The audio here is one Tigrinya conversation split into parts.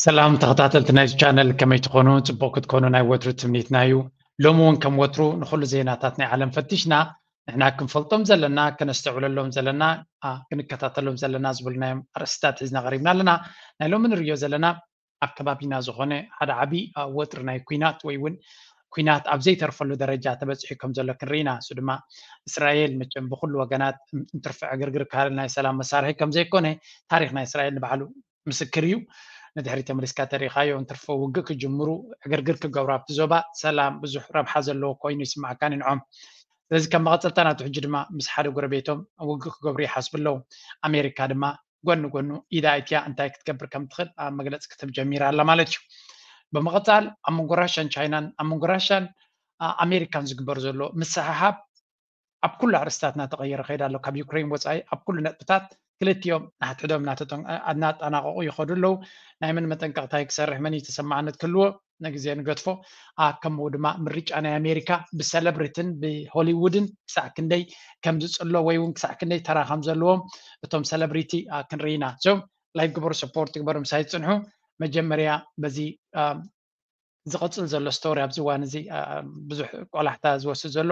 ሰላም ተኸታተልቲ ናይዚ ቻነል፣ ከመይ ትኾኑ? ጽቡቕ ክትኮኑ ናይ ወትሩ ትምኒትና እዩ። ሎሚ እውን ከም ወትሩ ንኹሉ ዜናታት ናይ ዓለም ፈቲሽና፣ ንሕና ክንፈልጦም ዘለና፣ ከነስተውዕለሎም ዘለና፣ ኣ፣ ክንከታተሎም ዘለና ዝብልናዮም ኣርእስታት ሒዝና ቀሪብና ኣለና። ናይ ሎሚ ንርእዮ ዘለና ኣብ ከባቢና ዝኾነ ሓደ ዓቢ፣ ኣ፣ ወጥሪ ናይ ኲናት ወይ እውን ኲናት ኣብ ዘይተርፈሉ ደረጃ ተበጺሑ ከም ዘሎ ክንርኢ ኢና። እሱ ድማ እስራኤል መቸም ብኹሉ ወገናት እንትርፎ ዕግርግር ካልእ ናይ ሰላም መሳርሒ ከም ዘይኮነ ታሪኽ ናይ እስራኤል ንባዕሉ ምስክር እዩ። ንድሕሪት ተመሊስካ ተሪኢኻዮ፣ እንትርፎ ውግእ ክጅምሩ፣ ዕግርግር ክገብሩ ኣብቲ ዞባ፣ ሰላም ብዙሕ ረብሓ ዘለዎ ኮይኑ ይስማዓካ ንዕኦም። ስለዚ ከም መቐጸልታ ናቱ ሕጂ ድማ ምስ ሓደ ጎረቤቶም ውግእ ክገብሩ ይሓስቡ ኣለዉ። ኣሜሪካ ድማ ጎኒ ጎኑ ኢዳ ኣእትያ እንታይ ክትገብር ከም ትኽእል ኣብ መግለጺ ክትህብ ጀሚራ ኣላ ማለት እዩ። ብምቕጻል ኣብ መንጎ ራሻን ቻይናን ኣብ መንጎ ራሻን ኣሜሪካን ዝግበር ዘሎ ምስሕሓብ ኣብ ኩሉ ኣርእስታት እናተቐየረ ከይዳ ኣሎ። ካብ ዩክሬን ወፃኢ ኣብ ኩሉ ነጥብታት ክልቲኦም ናሕድሕዶም እናጠናቀቁ ይኸዱ ኣለዉ። ናይ መን መጠንቀቅታ ክሰርሕ መን እዩ ተሰማዕነት ክህልዎ ነግዜ ንገድፎ። ከምኡ ድማ ምርጫ ናይ ኣሜሪካ ብሰለብሪትን ብሆሊውድን ክሳዕ ክንደይ ከም ዝፅሎ ወይ እውን ክሳዕ ክንደይ ተራ ከም ዘለዎም እቶም ሰለብሪቲ ክንርኢና። ላይክ ግበሩ፣ ሰፖርት ግበሩ፣ ምሳይ ፅንሑ። መጀመርያ በዚ ዝቐጽል ዘሎ ስቶሪ ኣብዚ እዋን እዚ ብዙሕ ቆላሕታ ዝወስድ ዘሎ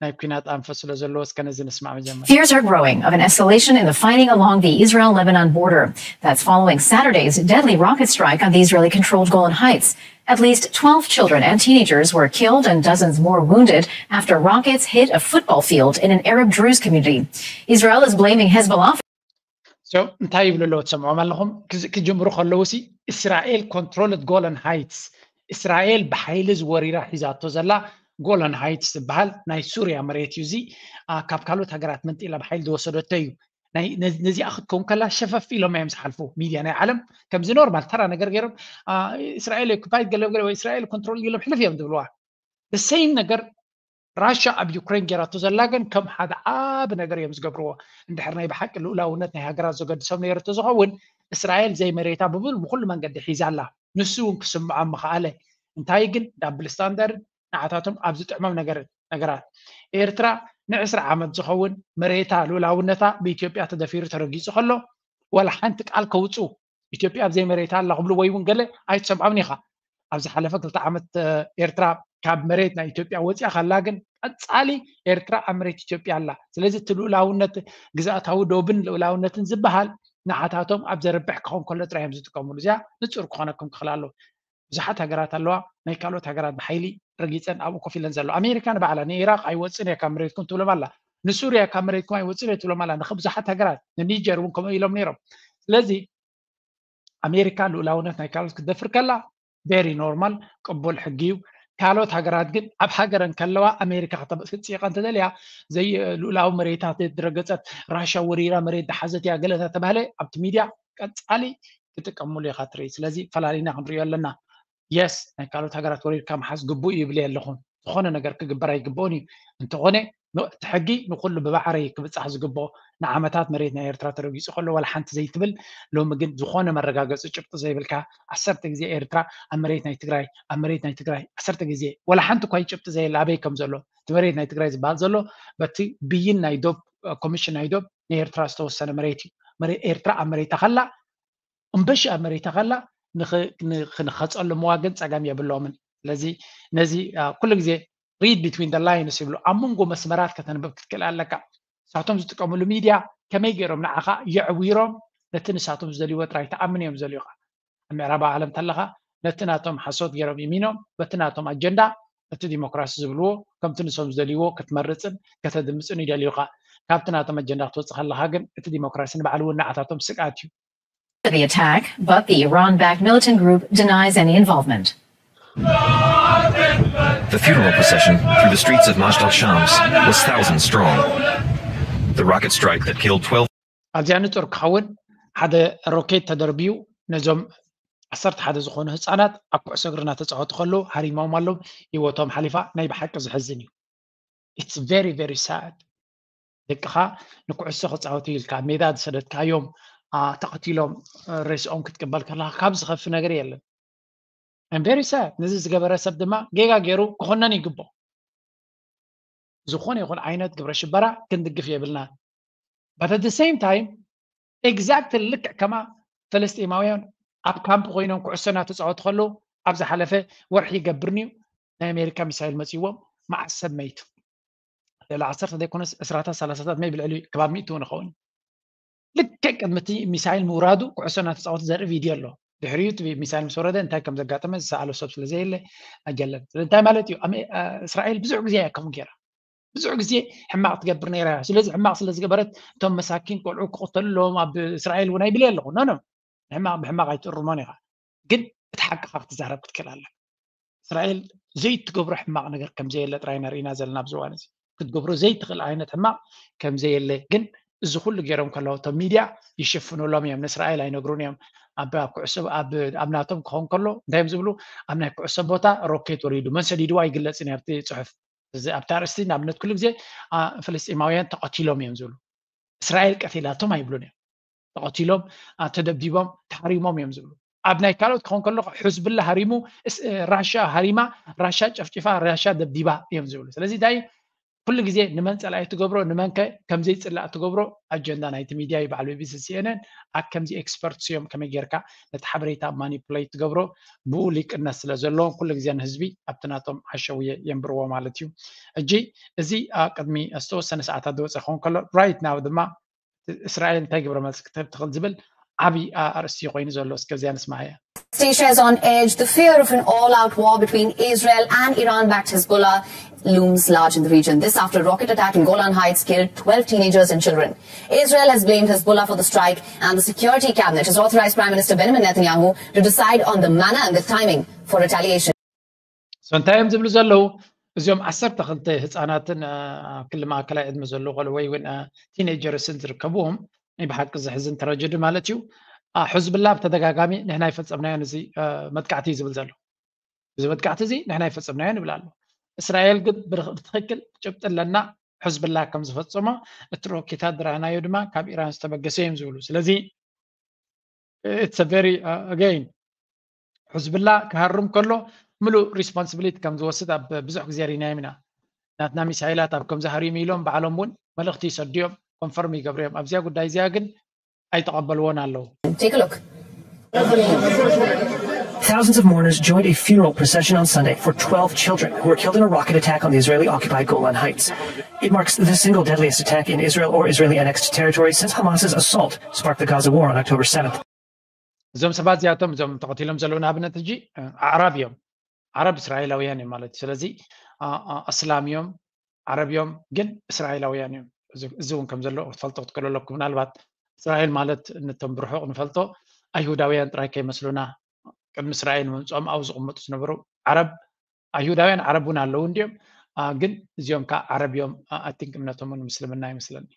ናይ ኲናት ኣንፈት ስለ ዘለዎ እስከ ነዚ ንስማዕ መጀመርያ። Fears are growing of an escalation in the fighting along the Israel-Lebanon border. That's following Saturday's deadly rocket strike on the Israeli-controlled Golan Heights. At least twelve children and teenagers were killed and dozens more wounded after rockets hit a football field in an Arab Druze community. Israel is blaming Hezbollah. እንታይ ይብሉ ኣለዉ ትሰምዖም ኣለኹም? ክጅምሩ ከለዉ ሲ እስራኤል controlled Golan Heights፣ እስራኤል ብሓይሊ ዝወሪራ ሒዛቶ ዘላ ጎላን ሃይትስ ዝበሃል ናይ ሱርያ መሬት እዩ። እዚ ካብ ካልኦት ሃገራት መንጢላ ብሓይሊ ዝወሰደቶ እዩ። ነዚኣ ክትከውን ከላ ሸፈፍ ኢሎም እዮም ዝሓልፉ። ሚድያ ናይ ዓለም ከምዚ ኖርማል ተራ ነገር ገይሮም እስራኤል ኦኩፓይድ ገለ ገለ ወይ እስራኤል ኮንትሮል ኢሎም ሕልፍ እዮም ዝብልዋ። ሰይም ነገር ራሻ ኣብ ዩክሬን ጌራቶ ዘላ ግን ከም ሓደ ዓቢ ነገር እዮም ዝገብርዎ። እንድሕር ናይ ብሓቂ ልኡላውነት ናይ ሃገራት ዘገድሶም ነይሩ ተዝኸውን እስራኤል ዘይመሬታ ብብሉ ብኩሉ መንገዲ ሒዛ ኣላ። ንሱ እውን ክስምዖም ምኽኣለ። እንታይ ግን ዳብል ስታንዳርድ ንዓታቶም ኣብ ዝጥዕሞም ነገር ነገራት ኤርትራ ንዕስራ ዓመት ዝኸውን መሬታ ልኡላውነታ ብኢትዮጵያ ተደፊሩ ተረጊጹ ከሎ ዋላ ሓንቲ ቃል ከውጹ ኢትዮጵያ ኣብዘይ መሬታ ኣላ ክብሉ ወይ እውን ገለ ኣይትሰምዖምን ኢኻ። ኣብ ዝሓለፈ ክልተ ዓመት ኤርትራ ካብ መሬት ናይ ኢትዮጵያ ወፂኣ ካላ ግን ቀፃሊ ኤርትራ ኣብ መሬት ኢትዮጵያ ኣላ። ስለዚ እቲ ልኡላውነት ግዛእታዊ ዶብን ልኡላውነትን ዝበሃል ንዓታቶም ኣብ ዘርብሕ ክኸውን ከሎ ጥራይ እዮም ዝጥቀምሉ። እዚኣ ንፁር ክኾነኩም ክኽእል ኣለዎ። ብዙሓት ሃገራት ኣለዋ ናይ ካልኦት ሃገራት ብሓይሊ ረጊፀን ኣብኡ ኮፍ ኢለን ዘሎ። ኣሜሪካ ንባዕላ ንኢራቅ ኣይወፅን እየ ካብ መሬትኩም ትብሎም ኣላ። ንሱርያ ካብ መሬትኩም ኣይወፅን እየ ትብሎም ኣላ። ንብዙሓት ሃገራት ንኒጀር እውን ከምኡ ኢሎም ነይሮም። ስለዚ ኣሜሪካ ልኡላውነት ናይ ካልኦት ክትደፍር ከላ ቨሪ ኖርማል ቅቡል ሕጊ እዩ። ካልኦት ሃገራት ግን ኣብ ሃገረን ከለዋ ኣሜሪካ ክተምፅእ እንተደልያ ዘይልኡላዊ መሬታት ድረገፀት ራሻ ወሪራ መሬት ዝሓዘት እያ ገለ እናተባህለ ኣብቲ ሚድያ ቀፃሊ ክጥቀምሉ ኢኻ ትርኢ። ስለዚ ፈላሊና ክንሪኦ ኣለና። የስ ናይ ካልኦት ሃገራት ወሪርካ ምሓዝ ግቡእ ይብል ኣለኹም። ዝኾነ ነገር ክግበር ኣይግብኦን እዩ። እንተኾነ እቲ ሕጊ ንኩሉ ብማዕረ ክብፃሕ ዝግብኦ። ንዓመታት መሬት ናይ ኤርትራ ተረጊፁ ከሎ ዋላ ሓንቲ ዘይትብል ሎሚ ግን ዝኾነ መረጋገፂ ጭብጢ ዘይብልካ ዓሰርተ ግዜ ኤርትራ ኣብ መሬት ናይ ትግራይ ኣብ መሬት ናይ ትግራይ ዓሰርተ ግዜ ዋላ ሓንቲ እኳ ጭብጢ ዘየለ ኣበይ ከም ዘሎ እቲ መሬት ናይ ትግራይ ዝበሃል ዘሎ በቲ ብይን ናይ ዶብ ኮሚሽን ናይ ዶብ ናይ ኤርትራ ዝተወሰነ መሬት እዩ። ኤርትራ ኣብ መሬታ ከላ እምበሺ ኣብ መሬታ ከላ ንኽንኸፀሉ ምዋግን ፀገም የብሎምን። ስለዚ ነዚ ኩሉ ግዜ read between the lines ይብሉ ኣብ መንጎ መስመራት ከተንብብ ክትክእል ኣለካ። ንሳቶም ዝጥቀምሉ ሚድያ ከመይ ገይሮም ንዓኻ የዕዊሮም ነቲ ንሳቶም ዝደልይዎ ጥራይ ተኣምን እዮም ዝደልዩኻ። ኣብ ምዕራባዊ ዓለም ተለኻ ነቲ ናቶም ሓሶት ገይሮም ይሚኖም በቲ ናቶም ኣጀንዳ እቲ ዲሞክራሲ ዝብልዎ ከምቲ ንሶም ዝደልይዎ ክትመርፅን ከተድምፅን ይደልዩኻ። ካብቲ ናቶም ኣጀንዳ ክትወፅእ ከለኻ ግን እቲ ዲሞክራሲ ንባዕሉ እውን ንዓታቶም ስግኣት እዩ። The attack, but the Iran-backed militant group denies any involvement. The funeral procession through the streets of Majid al-Shams was thousand strong. The rocket strike that killed twelve ኣብዚኣ ንጹር ክኸውን ሓደ ሮኬት ተደርብዩ ነዞም ዓሰርተ ሓደ ዝኾኑ ህጻናት ኣብ ኩዕሶ እግሪ እናተጻወቱ ከለዉ ሃሪሞም ኣለዉ። ህይወቶም ሓሊፋ። ናይ ብሓቂ ዘሕዝን እዩ። It's very very sad። ደቅኻ ንኩዕሶ ክጻወቱ ኢልካ ሜዳ ዝሰደድካዮም ተቐቲሎም ሬስኦም ክትቅበል ከለኻ ካብ ዝኸፊ ነገር የለን። I'm very sad። ነዚ ዝገበረ ሰብ ድማ ጌጋ ገይሩ ክኾነን ይግብኦ። ዝኾነ ይኹን ዓይነት ግብረ ሽበራ ክንድግፍ የብልናን። But at the same time exactly ልክዕ ከማ ፈለስጢማውያን ኣብ ካምፕ ኮይኖም ኩዕሶ እናተፃወቱ ከለዉ ኣብ ዝሓለፈ ወርሒ ይገብርንዩ ናይ ኣሜሪካ ሚሳይል መፅዎም መዓስ ሰብ መይቱ? ልዕሊ ዓሰርተ ዘይኮነስ ዕስራታት ሰላሳታት maybe ልዕሊ ከባቢ ሚእቲ እውን ይኸውን። ልክዕ ቅድሚ እቲ ሚሳይል ምውራዱ ኩዕሶ እናተፃወቱ ዘርኢ ቪድዮ ኣሎ። ድሕሪኡ እቲ ሚሳይል ምስ ወረደ እንታይ ከም ዘጋጠመ ዝሰኣሎ ሰብ ስለ ዘየለ ኣጀለን። ስለዚ እንታይ ማለት እዩ? እስራኤል ብዙሕ ግዜ እያ ከምኡ ገይራ። ብዙሕ ግዜ ሕማቕ ትገብር ነይራ እያ። ስለዚ ሕማቕ ስለ ዝገበረት እቶም መሳኪን ቆልዑ ክቕተሉ ኣለዎም ኣብ እስራኤል እውን ኣይብል ኣለኹ። ኖ ኖ፣ ሕማቕ ብሕማቕ ኣይትእርሞን ኢኻ። ግን እቲ ሓቅኻ ክትዛረብ ክትክእል ኣለካ። እስራኤል ዘይትገብሮ ሕማቕ ነገር ከም ዘየለ ጥራይ ኢና ርኢና ዘለና ኣብዚ እዋን እዚ። ክትገብሮ ዘይትኽእል ዓይነት ሕማቕ ከም ዘየለ ግን እዚ ኩሉ ገይሮም ከለዉ እቶም ሚድያ ይሽፍኑሎም እዮም። ንእስራኤል ኣይነግሩን እዮም። ኣብ ኣብ ኩዕሶ ኣብ ኣብ ናቶም ክኸውን ከሎ እንታይ እዮም ዝብሉ? ኣብ ናይ ኩዕሶ ቦታ ሮኬት ወሪዱ መን ሰዲድዎ ኣይግለጽን እዩ ኣብቲ ጽሑፍ። እዚ ኣብቲ ኣርእስቲ ንኣብነት ኩሉ ግዜ ፍልስጢማውያን ተቐቲሎም እዮም ዝብሉ። እስራኤል ቀቲላቶም ኣይብሉን እዮም። ተቐቲሎም፣ ተደብዲቦም፣ ተሃሪሞም እዮም ዝብሉ። ኣብ ናይ ካልኦት ክኸውን ከሎ ሕዝብላ ሃሪሙ፣ ራሻ ሃሪማ፣ ራሻ ጨፍጭፋ፣ ራሻ ደብዲባ እዮም ዝብሉ። ስለዚ እንታይ ኩሉ ግዜ ንመን ጸላኢ ትገብሮ ንመንከ ከምዘይጽላእ ትገብሮ ኣጀንዳ ናይቲ ሚድያ እዩ። በዓል ቢቢሲ ሲኤንኤን ኣብ ከምዚ ኤክስፐርትስ እዮም ከመይ ጌርካ ነቲ ሓበሬታ ማኒፕሌት ትገብሮ ብኡ ሊቅነት ስለ ዘለዎም ኩሉ ግዜ ንህዝቢ ኣብቲ ናቶም ሓሸውየ የንብርዎ ማለት እዩ። ሕጂ እዚ ኣብ ቅድሚ ዝተወሰነ ሰዓታት ዝወፀ ክኸውን ከሎ ራይት ናው ድማ እስራኤል እንታይ ግብረ መልሲ ክትህብ ትኽእል ዝብል ዓብዪ ኣርእስቲ ኮይኑ ዘሎ እስከ እዚኣ ንስማዓያ። Station on edge, the fear of an all-out war between Israel and Iran-backed Hezbollah looms large in the region. This after a rocket attack in Golan Heights killed twelve teenagers and children. Israel has blamed Hezbollah for the strike, and the security cabinet has authorized Prime Minister Benjamin Netanyahu to decide on the manner and the timing for retaliation. So እንታይ እዮም ዝብሉ ዘለዉ? እዚኦም ዓሰርተ ክልተ ህፃናትን ክሊ ማእከላይ ዕድመ ዘለዉ ቆልዑ ወይ እውን ቲኔጀርስን ዝርከብዎም ናይ ብሓቂ ዘሕዝን ትራጀዲ ማለት እዩ። ሕዝብላ ብተደጋጋሚ ንሕና ይፈፀምናዮን እዚ መጥቃዕቲ እዩ ዝብል ዘሎ። እዚ መጥቃዕቲ እዚ ንሕና ይፈፀምናዮን ይብል ኣሎ። እስራኤል ግን ብትክክል ጭብጢ ኣለና ሕዝብላ ከም ዝፈፀሞ እቲ ሮኬታት ዝረኣናዮ ድማ ካብ ኢራን ዝተበገሰ እዮም ዝብሉ። ስለዚ it's very again ሕዝብላ ክሃርም ከሎ ምሉእ ሪስፖንስብሊቲ ከም ዝወስድ ኣብ ብዙሕ ግዜ ሪናዮም ኢና። ናትና ሚሳይላት ኣብ ከምዚ ሃሪሙ ኢሎም ባዕሎም እውን መልእኽቲ ይሰድዮም ኮንፈርም ይገብርዮም። ኣብዚያ ጉዳይ እዚኣ ግን ኣይተቐበልዎን ኣለዉ። Take a look. Thousands of mourners joined a funeral procession on Sunday for twelve children who were killed in a rocket attack on the Israeli occupied Golan Heights. It marks the single deadliest attack in Israel or Israeli annexed territory since Hamas's assault sparked the Gaza war on October seventh. እዞም ሰባት እዚኣቶም እዞም ተቐቲሎም ዘለዉ ንኣብነት ሕጂ ኣዕራብ እዮም። ዓረብ እስራኤላውያን እዮም ማለት እዩ። ስለዚ ኣስላም እዮም፣ ዓረብ እዮም፣ ግን እስራኤላውያን እዮም። እዚ እውን ከም ዘሎ ክትፈልጦ ክትክእሉ ኣለኩም። ምናልባት እስራኤል ማለት ነቶም ብርሑቕ ንፈልጦ ኣይሁዳውያን ጥራይ ከይመስሉና ቅድሚ እስራኤል ምምፅኦም ኣብኡ ዝቕመጡ ዝነበሩ ዓረብ ኣይሁዳውያን ዓረብ እውን ኣለዉ እንዲዮም። ግን እዚኦም ከዓ ዓረብ እዮም። I think እምነቶም እውን ምስልምና ይመስለኒ።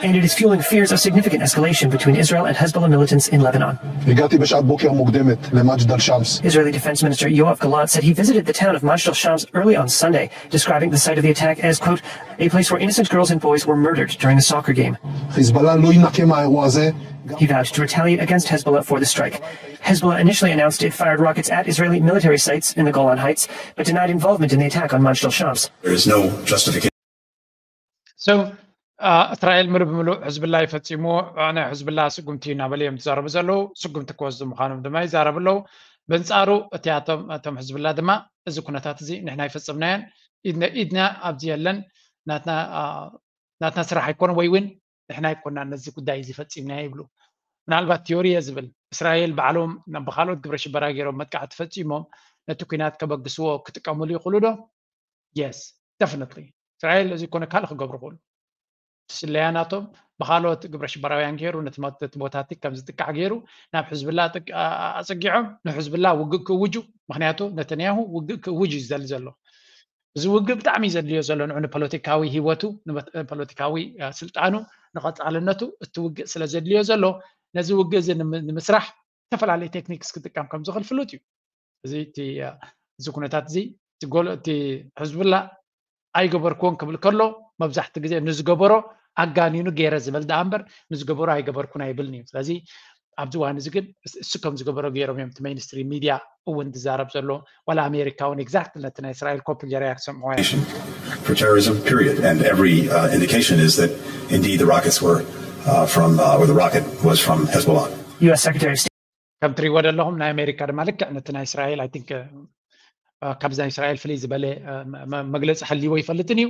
And it is fueling fears of significant escalation between Israel and Hezbollah militants in Lebanon. הגעתי בשעת בוקר מוקדמת למג'דל שמס. Israeli Defense Minister Yoav Gallant said he visited the town of Majdael Shams early on Sunday, describing the site of the attack as, quote, a place where innocent girls and boys were murdered during a soccer game. חיזבאללה לא יינקה מהאירוע הזה. He vowed to retaliate against Hezbollah for the strike. Hezbollah initially announced it fired rockets at Israeli military sites in the Golan Heights, but denied involvement in the attack on Majdael Shams. There is no justification. So እስራኤል ምሉእ ብምሉእ ሕዝብላ ይፈፂምዎ፣ ናይ ሕዝብላ ስጉምቲ እናበለ እዮም ዝዛረቡ ዘለዉ። ስጉምቲ ክወስዱ ምዃኖም ድማ ይዛረቡ ኣለዉ። በንፃሩ እቲኣቶም እቶም ሕዝብላ ድማ እዚ ኩነታት እዚ ንሕና ይፈፅምናዮን ኢድና ኣብዚ የለን፣ ናትና ስራሕ ኣይኮነ ወይ እውን ንሕና ኣይኮና ነዚ ጉዳይ እዚ ፈፂምናዮ ይብሉ። ምናልባት ቲዮሪ እየ ዝብል እስራኤል ባዕሎም ብካልኦት ግብረ ሽበራ ገይሮም መጥቃዕቲ ፈፂሞም ነቲ ኩናት ከበግስዎ ክጥቀምሉ ይኽእሉ ዶ? Yes, definitely. እስራኤል እዚ ኮነ ካልእ ክገብሩ ይኽእሉ። ስለያ ናቶም ብካልኦት ግብረ ሽበራውያን ገይሩ ነቲ ቦታቲ ከም ዝጥቃዕ ገይሩ ናብ ሕዝብላ ኣፅጊዖም ንሕዝብላ ውግእ ክእውጁ። ምክንያቱ ነተንያሁ ውግእ ክእውጅ እዩ ዝደሊ ዘሎ። እዚ ውግእ ብጣዕሚ ዘድልዮ ዘሎ ንዑ ንፖለቲካዊ ህይወቱ ንፖለቲካዊ ስልጣኑ ንቐፃልነቱ እቲ ውግእ ስለ ዘድልዮ ዘሎ ነዚ ውግእ እዚ ንምስራሕ ዝተፈላለዩ ቴክኒክስ ክጥቀም ከም ዝኽእል ፍሉጥ እዩ። እዚ እቲ እዚ ኩነታት እዚ እቲ ጎል እቲ ሕዝብላ ኣይገበርክዎን ክብል ከሎ መብዛሕቲ ግዜ ንዝገበሮ ኣጋኒኑ ገይረ ዝበል ደኣ እምበር ንዝገበሮ ኣይገበርኩን ኣይብልን እዩ። ስለዚ ኣብዚ እዋን እዚ ግን እሱ ከም ዝገበሮ ገይሮም እዮም እቲ ሜይንስትሪም ሚድያ እውን ዝዛረብ ዘሎ ዋላ ኣሜሪካ እውን ኤግዛክት ነቲ ናይ እስራኤል ኮፒ ገይረ እያ ክሰምዕዋ እያ። For terrorism, period. And every uh, indication is that indeed the rockets were uh, from, uh, or the rocket was from Hezbollah. U S Secretary of State. ከም ትሪእዎ ዘለኹም ናይ ኣሜሪካ ድማ ልክዕ ነቲ ናይ እስራኤል I think ካብዚ ናይ እስራኤል ፍልይ ዝበለ መግለፂ ሓልይዎ ይፈልጥን እዩ።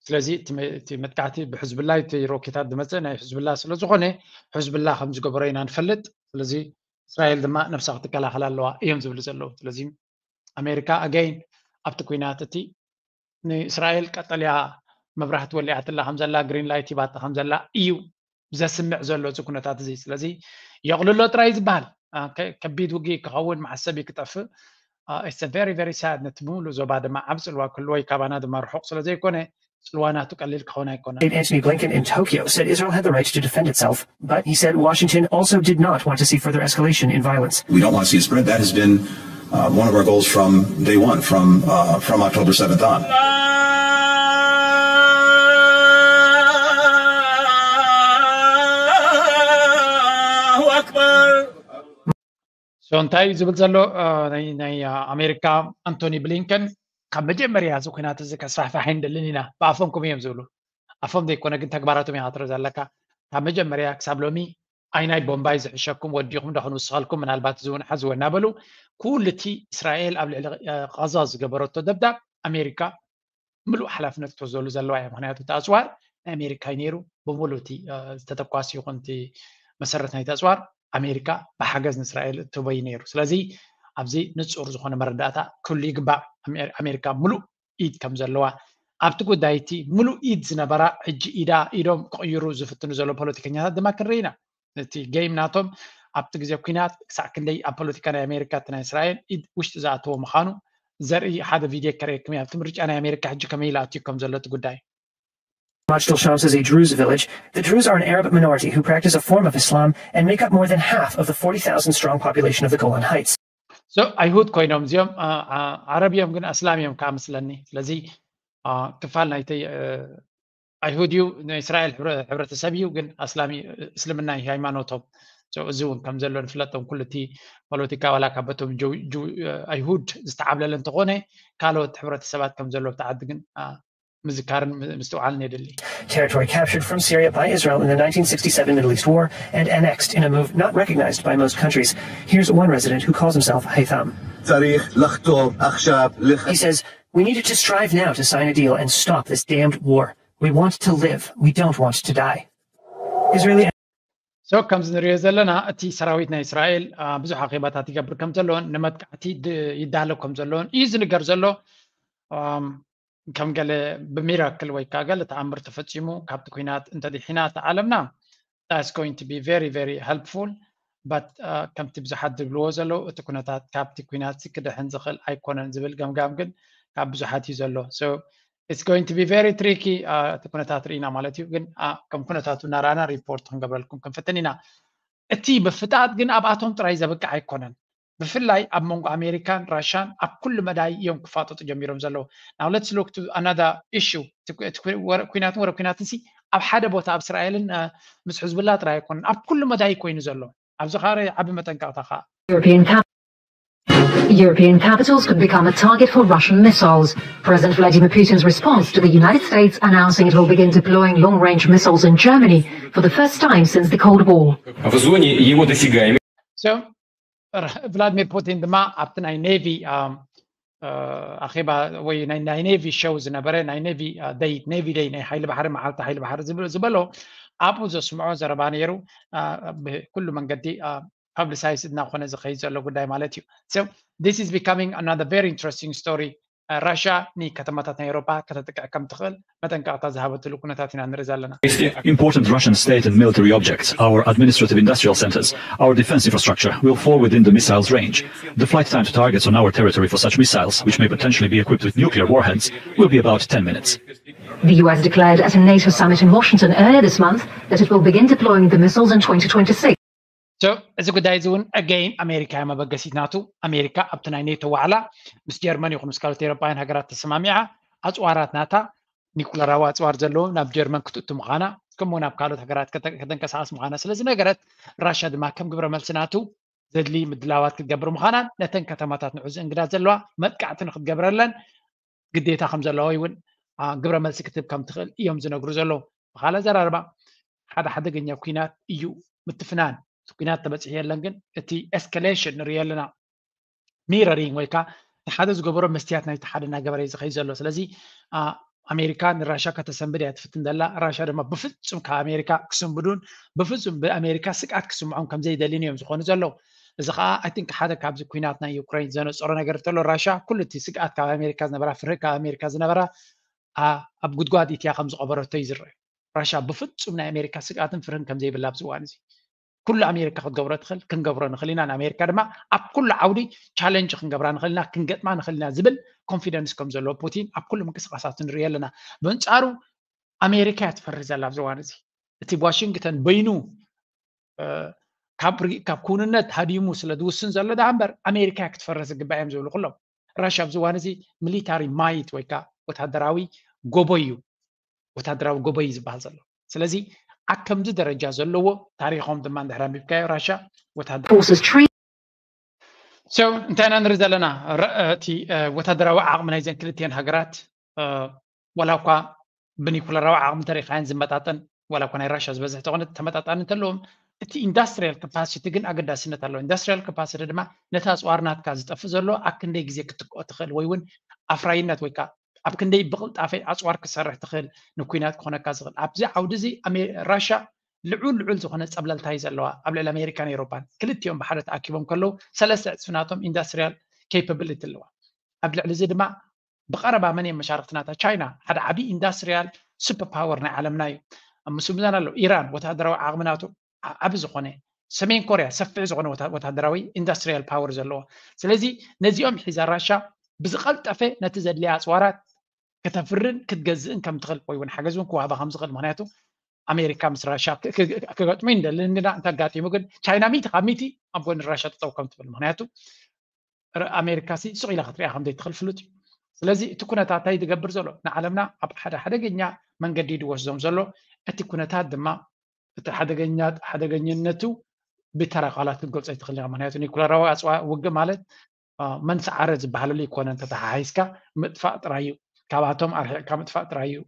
ስለዚ እቲ መጥቃዕቲ ብሕዝብላ እቲ ሮኬታት ዝመፀ ናይ ሕዝብላ ስለዝኾነ ሕዝብላ ከም ዝገበሮ ኢና ንፈልጥ። ስለዚ እስራኤል ድማ ነብሳ ክትከላኸል ኣለዋ እዮም ዝብሉ ዘለዉ። ስለዚ ኣሜሪካ again ኣብቲ ኩናት እቲ ንእስራኤል ቀጠልያ መብራህቲ ወሊዓትላ ከም ዘላ green light ሂባታ ከም ዘላ እዩ ዘስምዕ ዘሎ እዚ ኩነታት እዚ። ስለዚ የቕልሎ ጥራይ ዝበሃል ከቢድ ውግእ ክኸውን መሓሰብ እዩ ክጠፍእ። It's very very sad። ነቲ ብምሉእ ዞባ ድማ ዓብ ፅልዋ ክህልዎ እዩ። ካባና ድማ ርሑቕ ስለ ዘይኮነ ፅልዋ ናቱ ቀሊል ክኸውን ኣይኮነን። Antony Blinken in Tokyo said Israel had the right to defend itself, but he said Washington also did not want to see further escalation in violence. We don't want to see it spread. That has been uh, one of our goals from day one, from uh, from October seventh on. So እንታይ እዩ ዝብል ዘሎ ናይ ኣሜሪካ ኣንቶኒ ብሊንከን ካብ መጀመርያ እዚ ኩናት እዚ ከስፋሕፋሕ ኣይንደልን ኢና ብኣፎም ከም እዮም ዝብሉ ኣፎም ዘይኮነ ግን ተግባራቶም ኢኻ ትርኢ ዘለካ ካብ መጀመርያ ክሳብ ሎሚ ኣይናይ ቦምባይ ዝሕሸኩም ወዲኹም ዶ ክንውስኸልኩም ምናልባት ዝውንሓ ዝወ እናበሉ ኩሉ እቲ እስራኤል ኣብ ልዕሊ ቃዛ ዝገበረቶ ደብዳብ ኣሜሪካ ምሉእ ሓላፍነት ክትወስደሉ ዘለዋ እያ ምክንያቱ እቲ ኣፅዋር ናይ ኣሜሪካ እዩ ነይሩ ብምሉእ እቲ ዝተተኳሲ ይኹን እቲ መሰረት ናይቲ ኣፅዋር ኣሜሪካ ብሓገዝ ንእስራኤል እትህቦ እዩ ነይሩ ስለዚ ኣብዚ ንፁር ዝኾነ መረዳእታ ክህሉ ይግባእ ኣሜሪካ ምሉእ ኢድ ከም ዘለዋ ኣብቲ ጉዳይ እቲ ምሉእ ኢድ ዝነበራ ሕጂ ኢዳ ኢዶም ክቕይሩ ዝፍትኑ ዘለዉ ፖለቲከኛታት ድማ ክንርኢ ኢና እቲ game ናቶም ኣብቲ ግዜ ኩናት ክሳዕ ክንደይ ኣብ ፖለቲካ ናይ ኣሜሪካ እቲ ናይ እስራኤል ኢድ ውሽጢ ዝኣተዎ ምዃኑ ዘርኢ ሓደ ቪድዮ ከርእየኩም እየ ኣብቲ ምርጫ ናይ ኣሜሪካ ሕጂ ከመይ ኢሉ ኣትዩ ከም ዘሎ እቲ ጉዳይ Majid al-Shams is a Druze village. The Druze are an Arab minority who practice a form of Islam and make up more than half of the forty thousand strong population of the Golan Heights. So ኣይሁድ ኮይኖም እዚኦም ዓረብ እዮም ግን ኣስላም እዮም ከዓ መስለኒ ስለዚ ክፋል ናይተይ ኣይሁድ እዩ ናይ እስራኤል ሕብረተሰብ እዩ ግን ኣስላም እስልምና እዩ ሃይማኖቶም እዚ እውን ከም ዘሎ ንፍለጦም ኩሉ እቲ ፖለቲካ ዋላ ካብ በቶም ኣይሁድ ዝተዓብለለ እንተኾነ ካልኦት ሕብረተሰባት ከም ዘሎ ኣብቲ ዓዲ ግን ምዝካርን ምስትውዓልን የድሊ Territory captured from Syria by Israel in the nineteen sixty-seven Middle East War and annexed in a move not recognized by most countries. Here's one resident who calls himself Haytham. צריך לחתור עכשיו He says, We needed to strive now to sign a deal and stop this damned war. We want to live. We don't want to die. Israeli So ከምዚ ንሪኦ ዘለና እቲ ሰራዊት ናይ እስራኤል ብዙሕ ኣኼባታት ይገብር ከም ዘለዎን ንመጥቃዕቲ ይዳለብ ከም ዘለዎን እዩ ዝንገር ዘሎ ከም ገለ ብሚራክል ወይ ከዓ ገለ ተኣምር ተፈፂሙ ካብቲ ኩናት እንተድሒና እቲ ዓለምና that's going to be very very helpful but ከምቲ ብዙሓት ዝብልዎ ዘለዉ እቲ ኩነታት ካብቲ ኩናት ክድሕን ዝኽእል ኣይኮነን ዝብል ገምጋም ግን ካብ ብዙሓት እዩ ዘሎ so it's going to be very tricky እቲ ኩነታት ርኢና ማለት እዩ ግን ከም ኩነታቱ እናረኣና ሪፖርት ክንገብረልኩም ክንፍትን ኢና እቲ ምፍጣጥ ግን ኣብኣቶም ጥራይ ዘብቅዕ ኣይኮነን ብፍላይ ኣብ መንጎ ኣሜሪካን ራሻን ኣብ ኩሉ መዳይ እዮም ክፋጠጡ ጀሚሮም ዘለዉ now let's look to another issue ኩናትን ወረ ኩናትን ሲ ኣብ ሓደ ቦታ ኣብ እስራኤልን ምስ ሕዝብላ ጥራይ ኣይኮነን ኣብ ኩሉ መዳይ ኮይኑ ዘሎ ኣብዚ ካረ ዓቢ መጠንቀቕታ ከዓ European cap- European capitals could become a target for Russian missiles. President Vladimir Putin's response to the United States announcing it will begin deploying long-range missiles in Germany for the first time since the Cold War. В зоне его досягаемости So ቭላድሚር ፑቲን ድማ ኣብቲ ናይ ኔቪ ኣኼባ ወይ ናይ ኔቪ ሸው ዝነበረ ናይ ኔቪ ደይ ኔቪ ደይ ናይ ሓይሊ ባሕሪ መዓልቲ ሓይሊ ባሕሪ ዝበሎ ኣብኡ ዘስምዖ ዘረባ ነይሩ ብኩሉ መንገዲ ፐብሊሳይዝ እናኾነ ዝኸይድ ዘሎ ጉዳይ ማለት እዩ this is becoming another very interesting story ራሽያ ንከተማታት ናይ ኤሮፓ ከተጥቅዕ ከም ትኽእል መጠንቀቕታ ዝሃበትሉ ኩነታት ኢና ንርኢ ዘለና Important Russian state and military objects, our administrative industrial centers, our defense infrastructure will fall within the missile's range. The flight time to targets on our territory for such missiles, which may potentially be equipped with nuclear warheads, will be about ten minutes. The U S declared at a NATO summit in Washington earlier this month that it will begin deploying the missiles in twenty twenty-six. So እዚ ጉዳይ እዚ እውን again ኣሜሪካ እያ መበገሲት ናቱ ኣሜሪካ ኣብቲ ናይ ኔቶ ዋዕላ ምስ ጀርመን ይኹን ምስ ካልኦት ኤሮፓውያን ሃገራት ተሰማሚዓ ኣፅዋራት ናታ ኒኩለራዊ ኣፅዋር ዘለዎ ናብ ጀርመን ክትእቱ ምዃና ከምኡ ናብ ካልኦት ሃገራት ከተንቀሳቐስ ምዃና ስለ ዝነገረት ራሽያ ድማ ከም ግብረ መልሲ ናቱ ዘድሊ ምድላዋት ክትገብር ምዃናን ነተን ከተማታት ንዑ ዝእንግዳ ዘለዋ መጥቃዕቲ ንክትገብረለን ግዴታ ከም ዘለዋ እውን ግብረ መልሲ ክትህብ ከም ትኽእል እዮም ዝነግሩ ዘለዉ ብካልእ ኣዘራርባ ሓደ ሓደገኛ ኩናት እዩ ምትፍናን ኩናት ተበፂሑ የለን፣ ግን እቲ ኤስካሌሽን ንሪኦ ኣለና። ሚረሪንግ ወይ ከዓ ሓደ ዝገበሮ መስትያት ናይቲ ሓደ እናገበረ እዩ ዝኸይድ ዘሎ። ስለዚ ኣሜሪካ ንራሻ ከተሰንብድ እያ ትፍትን ዘላ። ራሻ ድማ ብፍፁም ካብ ኣሜሪካ ክስንብዱን ብፍፁም ብኣሜሪካ ስግኣት ክስምዖም ከምዘይደልን እዮም ዝኾኑ ዘለዉ። እዚ ከዓ ኣይ ቲንክ ሓደ ካብዚ ኩናት ናይ ዩክሬን ዘነፀሮ ነገር እንተሎ ራሻ ኩሉ እቲ ስግኣት ካብ ኣሜሪካ ዝነበራ ፍርሂ ካብ ኣሜሪካ ዝነበራ ኣብ ጉድጓድ ኢትያ ከም ዝቐበረቶ እዩ ዝረአ። ራሻ ብፍፁም ናይ ኣሜሪካ ስግኣትን ፍርህን ከም ዘይብላ ኣብዚ እዋን እዚ ኩሉ ኣሜሪካ ክትገብሮ ትኽእል ክንገብሮ ንኽእል ኢና። ንኣሜሪካ ድማ ኣብ ኩሉ ዓውዲ ቻለንጅ ክንገብራ ንኽእል ኢና፣ ክንገጥማ ንኽእል ኢና ዝብል ኮንፊደንስ ከም ዘለዎ ፑቲን ኣብ ኩሉ ምንቅስቃሳቱ ንሪኢ ኣለና። ብንፃሩ ኣሜሪካ እያ ትፈርህ ዘላ ኣብዚ እዋን እዚ። እቲ ዋሽንግተን በይኑ ካብ ክውንነት ሃዲሙ ስለ ዝውስን ዘሎ ደኣ እምበር ኣሜሪካ ክትፈርህ ዝግባእ እዮም ዝብሉ ኩሎም። ራሻ ኣብዚ እዋን እዚ ሚሊታሪ ማይት ወይ ከዓ ወታደራዊ ጎቦ እዩ፣ ወታደራዊ ጎቦ እዩ ዝበሃል ዘሎ። ስለዚ ኣብ ከምዚ ደረጃ ዘለዎ ታሪኾም ድማ እንድሕር ኣንቢብካዮ ራሻ ወታደራዊ forces treat So እንታይ ኢና ንርኢ ዘለና? እቲ ወታደራዊ ዓቕሚ ናይዘን ክልቲኤን ሃገራት ዋላ እኳ ብኒኩለራዊ ዓቕሚ ተሪኻየን ዝመጣጠን ዋላ እኳ ናይ ራሻ ዝበዝሕ ተኾነ ተመጣጣኒ እንተለዎም እቲ ኢንዳስትሪያል ካፓሲቲ ግን ኣገዳስነት ኣለዎ። ኢንዳስትሪያል ካፓሲቲ ድማ ነቲ ኣፅዋር ናትካ ዝጠፍእ ዘሎ ኣብ ክንደይ ግዜ ክትክኦ ትኽእል ወይ እውን ኣፍራይነት ወይ ከዓ ኣብ ክንደይ ብቕልጣፈ ኣፅዋር ክሰርሕ ትኽእል ንኩናት ክኾነካ ዝኽእል ኣብዚ ዓውዲ እዚ ራሻ ልዑል ልዑል ዝኾነ ፀብለልታ እዩ ዘለዋ ኣብ ልዕሊ ኣሜሪካን ኤሮፓን። ክልቲኦም ብሓደ ተኣኪቦም ከለዉ ሰለስተ ዕፅፊ ናቶም ኢንዳስትሪያል ኬፓብሊቲ ኣለዋ። ኣብ ልዕሊ እዚ ድማ ብቐረባ መን እዮም መሻርክቲ ናታ? ቻይና ሓደ ዓብዪ ኢንዳስትሪያል ሱፐር ፓወር ናይ ዓለምና እዩ። ኣብ ምስምዛን ኣሎ ኢራን ወታደራዊ ዓቕሚ ናቱ ዓቢ ዝኾነ፣ ሰሜን ኮርያ ሰፊሕ ዝኾነ ወታደራዊ ኢንዳስትሪያል ፓወር ዘለዎ። ስለዚ ነዚኦም ሒዛ ራሻ ብዝቐልጠፈ ነቲ ዘድልያ ኣፅዋራት ከተፍርን ክትገዝእን ከም ትኽእል ወይ እውን ሓገዝ እውን ክወሃባ ከም ዝኽእል። ምክንያቱ ኣሜሪካ ምስ ራሻ ክገጥሙ ይንደሊ እንዳ እንተጋጢሙ ግን ቻይና ሚቲ ካብ ሚቲ ኣብ ጎኒ ራሻ ጠጠው ከም ትብል። ምክንያቱ ኣሜሪካ ሲ ሱቕ ኢላ ክትሪኣ ከም ዘይትኽእል ፍሉጥ እዩ። ስለዚ እቲ ኩነታት እንታይ ዝገብር ዘሎ ንዓለምና ኣብ ሓደ ሓደገኛ መንገዲ ድወስዶም ዘሎ። እቲ ኩነታት ድማ እቲ ሓደገኛ ሓደገኛነቱ ብተራ ቃላት ክትገልጾ ኣይትኽእል ኢኻ። ምክንያቱ ኒኩለራዊ ኣፅዋ ውግእ ማለት መን ሰዓረ ዝበሃለሉ ይኮነ እንተተሓሒዝካ ምጥፋእ ጥራይ እዩ። ካብኣቶም ኣርሒቕካ ምጥፋእ ጥራይ እዩ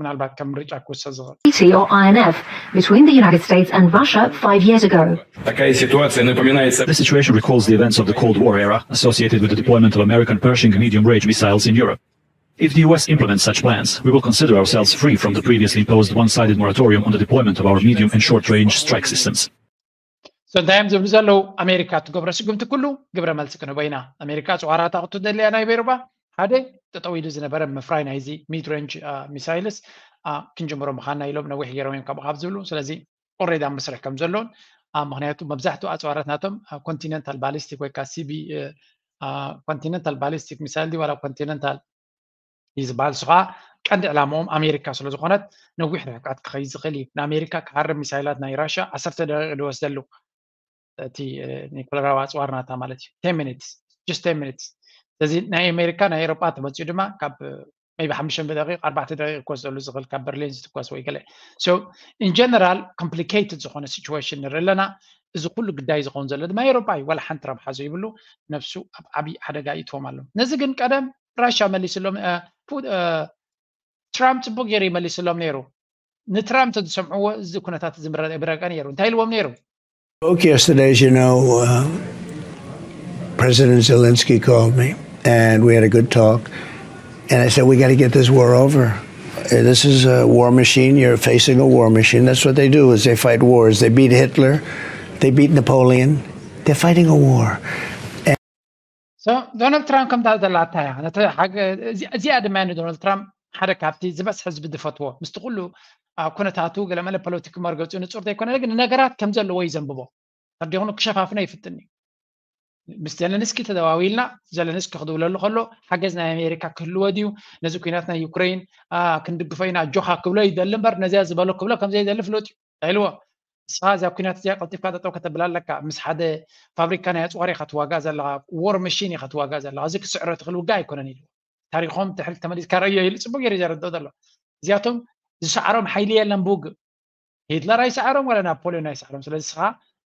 ምናልባት ከም ምርጫ ክውሰድ ዝኽእል። Treaty or I N F between the United States and Russia five years ago. Такая ситуация напоминает The situation recalls the events of the Cold War era associated with the deployment of American Pershing medium-range missiles in Europe. If the U S implements such plans, we will consider ourselves free from the previously imposed one-sided moratorium on the deployment of our medium and short-range strike systems. So እንታይ እዮም ዝብሉ ዘለዉ? ኣሜሪካ እትገብሮ ስጉምቲ ኩሉ ግብረ መልሲ ክንህቦ ኢና። ኣሜሪካ ኣፅዋራታ ክትደልያ ናይ ቤርባ ሓደ ጠጠው ኢሉ ዝነበረ ምፍራይ ናይዚ ሚድ ሬንጅ ሚሳይልስ ክንጅምሮ ምዃንና ኢሎም ነዊሕ ገይሮም እዮም ካብኡ ካብ ዝብሉ። ስለዚ ኦሬዲ ኣብ መስርሕ ከም ዘሎን ምክንያቱ መብዛሕትኡ ኣፅዋራት ናቶም ኮንቲነንታል ባሊስቲክ ወይ ከዓ ሲቢ ኮንቲነንታል ባሊስቲክ ሚሳይል ድዩ ዋላ ኮንቲነንታል እዩ ዝበሃል። እሱ ከዓ ቀንዲ ዕላማኦም ኣሜሪካ ስለዝኾነት ነዊሕ ርሕቀት ክኸይድ ዝኽእል እዩ። ንኣሜሪካ ክሃርም ሚሳይላት ናይ ራሻ ዓሰርተ ደቂቕ ዝወስደሉ እቲ ኒኩለራዊ ኣፅዋር ናታ ማለት እዩ። ቴን ሚኒትስ ጀስት ቴን ሚኒትስ። ስለዚ ናይ ኣሜሪካ ናይ ኤሮጳ ተመፂኡ ድማ ካብ maybe ሓሙሽተ ደቂቕ ኣርባዕተ ደቂቕ ክወስደሉ ዝኽእል ካብ በርሊን ዝትኮስ ወይ ገለ። So in general complicated ዝኾነ ሲቹዌሽን ንርኢ ኣለና። እዚ ኩሉ ግዳይ ዝኸውን ዘሎ ድማ ኤሮጳ እዩ። ዋላ ሓንቲ ረብሓ ዘይብሉ ነብሱ ኣብ ዓብዪ ሓደጋ ይእትዎም ኣሎ። ነዚ ግን ቀደም ራሻ መሊስሎም ትራምፕ ፅቡቅ ገይሩ ይመሊስሎም ነይሩ። ንትራምፕ ተዝሰምዕዎ እዚ ኩነታት እዚ ምረቀ ነይሩ። እንታይ ኢልዎም ነይሩ? Spoke yesterday, as you know, uh, President Zelensky called me, and we had a good talk. And I said, we got to get this war over. Uh, This is a war machine. You're facing a war machine. That's what they do. Is they fight wars. They beat Hitler. They beat Napoleon. They're fighting a war. So ዶናልድ ትራምፕ ከምታ ዘላታ እያ። ነቲ ሓገ- እዚ- እዚኣ ድማ ንዶናልድ ትራምፕ ሓደ ካብቲ ዝበዝሐ ህዝቢ ዝፈትዎ ምስቲ ኩሉ ኣብ ኩነታቱ ገለመለ ፖለቲክ መርገፂኡ ንፁር ዘይኮነ ግን ነገራት ከም ዘለዎ እዩ ዘንብቦ። ተዲኹኑ ክሸፋፍኖ ይፍትን እዩ። ምስ ዘለንስኪ ተደዋዊልና ዘለንስኪ ክድውለሉ ከሎ ሓገዝ ናይ ኣሜሪካ ክህልዎ ድዩ ነዚ ኩናት ናይ ዩክሬን ክንድግፎ ኢና ኣጆኻ ክብሎ ይደሊ እምበር ነዚያ ዝበሎ ክብሎ ከም ዘይደሊ ፍሉጥ እዩ ኢልዎ። ንስኻ እዚኣ ኩናት እዚኣ ቀልጢፍካ ጠጠው ከተብላ ኣለካ። ምስ ሓደ ፋብሪካ ናይ ኣፅዋር ኢኻ ትዋጋእ ዘለኻ፣ ዎር መሽን ኢኻ ትዋጋእ ዘለኻ። እዚ ክስዕሮ ትኽእል ውግእ ኣይኮነን ኢልዎ። ታሪኾም ድሕሪት ተመሊስካ ረእዮ ኢሉ ፅቡቅ ገይሩ ዘረድኦ ዘሎ። እዚኣቶም ዝሰዓሮም ሓይሊ የለን ብውግእ። ሂትለር ኣይሰዓሮም ዋላ ናፖሊዮን ኣይሰዓሮም። ስለዚ ንስኻ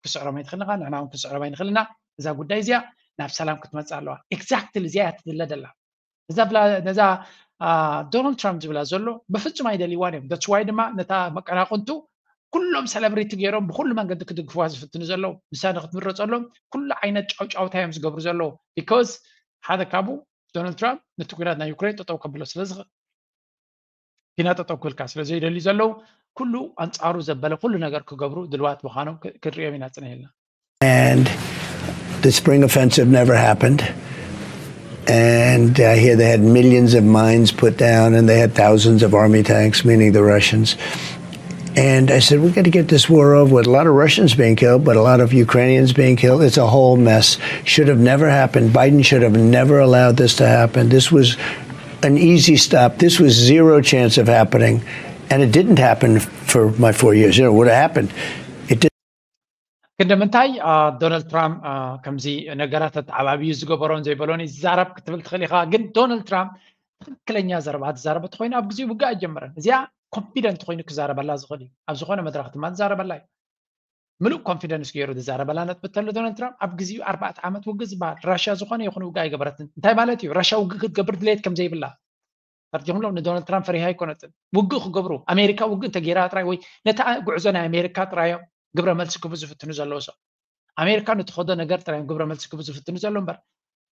ክስዕሮም ኣይትኽእል ኢኻ፣ ንሕና እውን ክንስዕሮም ኣይንኽእል ኢና። እዛ ጉዳይ እዚኣ ናብ ሰላም ክትመፅእ ኣለዋ። ኤግዛክትሊ እዚኣ እያ ትድለ ደላ። እዛ ብላ ነዛ ዶናልድ ትራምፕ ዝብላ ዘሎ ብፍፁም ኣይደልይዋን እዮም። ዳትስ ዋይ ድማ ነታ መቀናቕንቱ ኩሎም ሰለብሪቲ ገይሮም ብኩሉ መንገዲ ክድግፍዋ ዝፍትኑ ዘለዉ፣ ንሳ ንክትምረፀሎም ኩሉ ዓይነት ጫውጫውታ እዮም ዝገብሩ ዘለዉ። ቢኮዝ ሓደ ካብኡ ዶናልድ ትራምፕ ነቲ ኩናት ናይ ዩክሬን ጠጠው ከብሎ ስለዝኽእል፣ ኪና ጠጠው ክብልካ ስለ ዘይደልዩ ዘለዉ፣ ኩሉ ኣንፃሩ ዘበለ ኩሉ ነገር ክገብሩ ድልዋት ምዃኖም ክ- ክንሪኦም ኢና ፅንሕ ኢልና። And the spring offensive never happened. And I hear they had millions of mines put down and they had thousands of army tanks, meaning the Russians. And I said, we got to get this war over with. A lot of Russians being killed, but a lot of Ukrainians being killed. It's a whole mess. Should have never happened. Biden should have never allowed this to happen. This was an easy stop. This was zero chance of happening. And it didn't happen for my four years. You know, it would have happened. It did. ክንዲ ምንታይ ዶናልድ ትራምፕ ከምዚ ነገራት ኣተዓባብዩ ዝገበሮን ዘይበሎን ይዛረብ ክትብል ትኽእል ኢኻ። ግን ዶናልድ ትራምፕ ትክክለኛ ዘረባ ዝዛረበ ተኮይኑ ኣብ ግዜ ውግእ ኣይጀመረን። እዚኣ ኮንፊደንት ኮይኑ ክዛረበላ ዝኽእል እዩ። ኣብ ዝኾነ መድረክ ድማ ዝዛረበላ እዩ። ምሉእ ኮንፊደንስ ገይሩ ዝዛረበላ ነጥቢ ተሎ ዶናልድ ትራምፕ ኣብ ግዜኡ ኣርባዕተ ዓመት ውግእ ዝበሃል ራሽያ ዝኾነ ይኹን ውግእ ኣይገበረትን። እንታይ ማለት እዩ? ራሽያ ውግእ ክትገብር ድሌት ከም ዘይብላ ፈርዲኹምሎም። ንዶናልድ ትራምፕ ፈሪሃ ኣይኮነትን። ውግእ ክገብሩ ኣሜሪካ ውግእ እንተገይራ ጥራይ ወይ ነቲ ጉዕዞ ናይ ኣሜሪካ ጥራዮም ግብረ መልሲ ክህቡ ዝፍትኑ ዘለዉ ሰብ ኣሜሪካ ንትኸዶ ነገር ጥራዮም ግብረ መልሲ ክህቡ ዝፍትኑ ዘሎ እምበር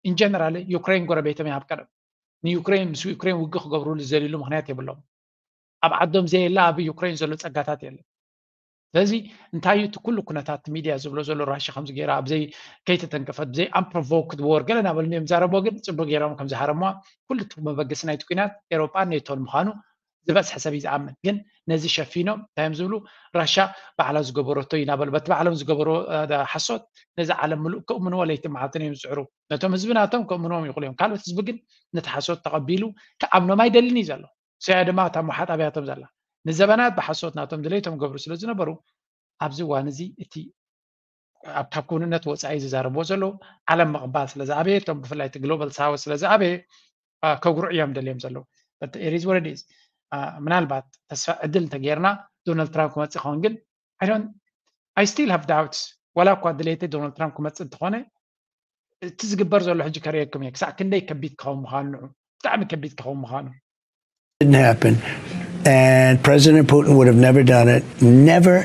ኢንጀነራል ዩክሬን ጎረቤቶም ይሃብ ቀደም ንዩክሬን ምስ ዩክሬን ውግእ ክገብሩሉ ዝደልዩሉ ምክንያት የብሎም። ኣብ ዓዶም ዘየለ ኣብ ዩክሬን ዘሎ ጸጋታት የለን። ስለዚ እንታይ እዩ እቲ ኩሉ ኩነታት ሚድያ ዝብሎ ዘሎ ራሽያ ከምዚ ገይራ ኣብዘይ ከይተተንከፈት ብዘይ ኣምፕሮቮክድ ዎር ገለ እናበሉ እዮም ዛረብዎ። ግን ጽቡቅ ገይሮም ከም ዝሃረምዋ ኩሉ እቲ መበገሲ ናይቲ ኩናት ኤሮጳን ኔቶን ምዃኑ ዝበዝሐ ሰብ እዩ ዝኣምን። ግን ነዚ ሸፊኖም እንታይ እዮም ዝብሉ? ራሽያ ባዕላ ዝገበረቶ እዩ እናበሉ በቲ ባዕሎም ዝገበርዎ ሓሶት ነዚ ዓለም ምሉእ ክእምንዎ ለይቲ መዓልትን እዮም ዝፅዕሩ። ነቶም ህዝቢ ናቶም ክእምንዎም ይኽእሉ እዮም። ካልኦት ህዝቢ ግን ነቲ ሓሶት ተቐቢሉ ክኣምኖም ኣይደልን እዩ ዘሎ። እዚኣ ድማ እታ መሓጣብያቶም ዘላ ንዘበናት ብሓሶት ናቶም ድሌቶም ገብሩ ስለ ዝነበሩ ኣብዚ እዋን እዚ እቲ ኣብ ካብ ክውንነት ወፃኢ ዝዛረብዎ ዘለዉ ዓለም ምቕባል ስለ ዝኣበየ እቶም ብፍላይ እቲ ግሎባል ሳውት ስለ ዝኣበየ ከጉርዑ እዮም ደልዮም ዘለዉ። It is what it is። ምናልባት ተስፋ ዕድል እንተገይርና ዶናልድ ትራምፕ ክመፅእ ይኸውን ግን I still have doubts። ዋላ እኳ ድሌተይ ዶናልድ ትራምፕ ክመፅእ እንተኾነ እቲ ዝግበር ዘሎ ሕጂ ከርእየኩም እየ ክሳዕ ክንደይ ከቢድ ክኸውን ምዃኑ ንዑ ብጣዕሚ ከቢድ ክኸውን ምዃኑ didn't happen. And President Putin would have never done it. Never,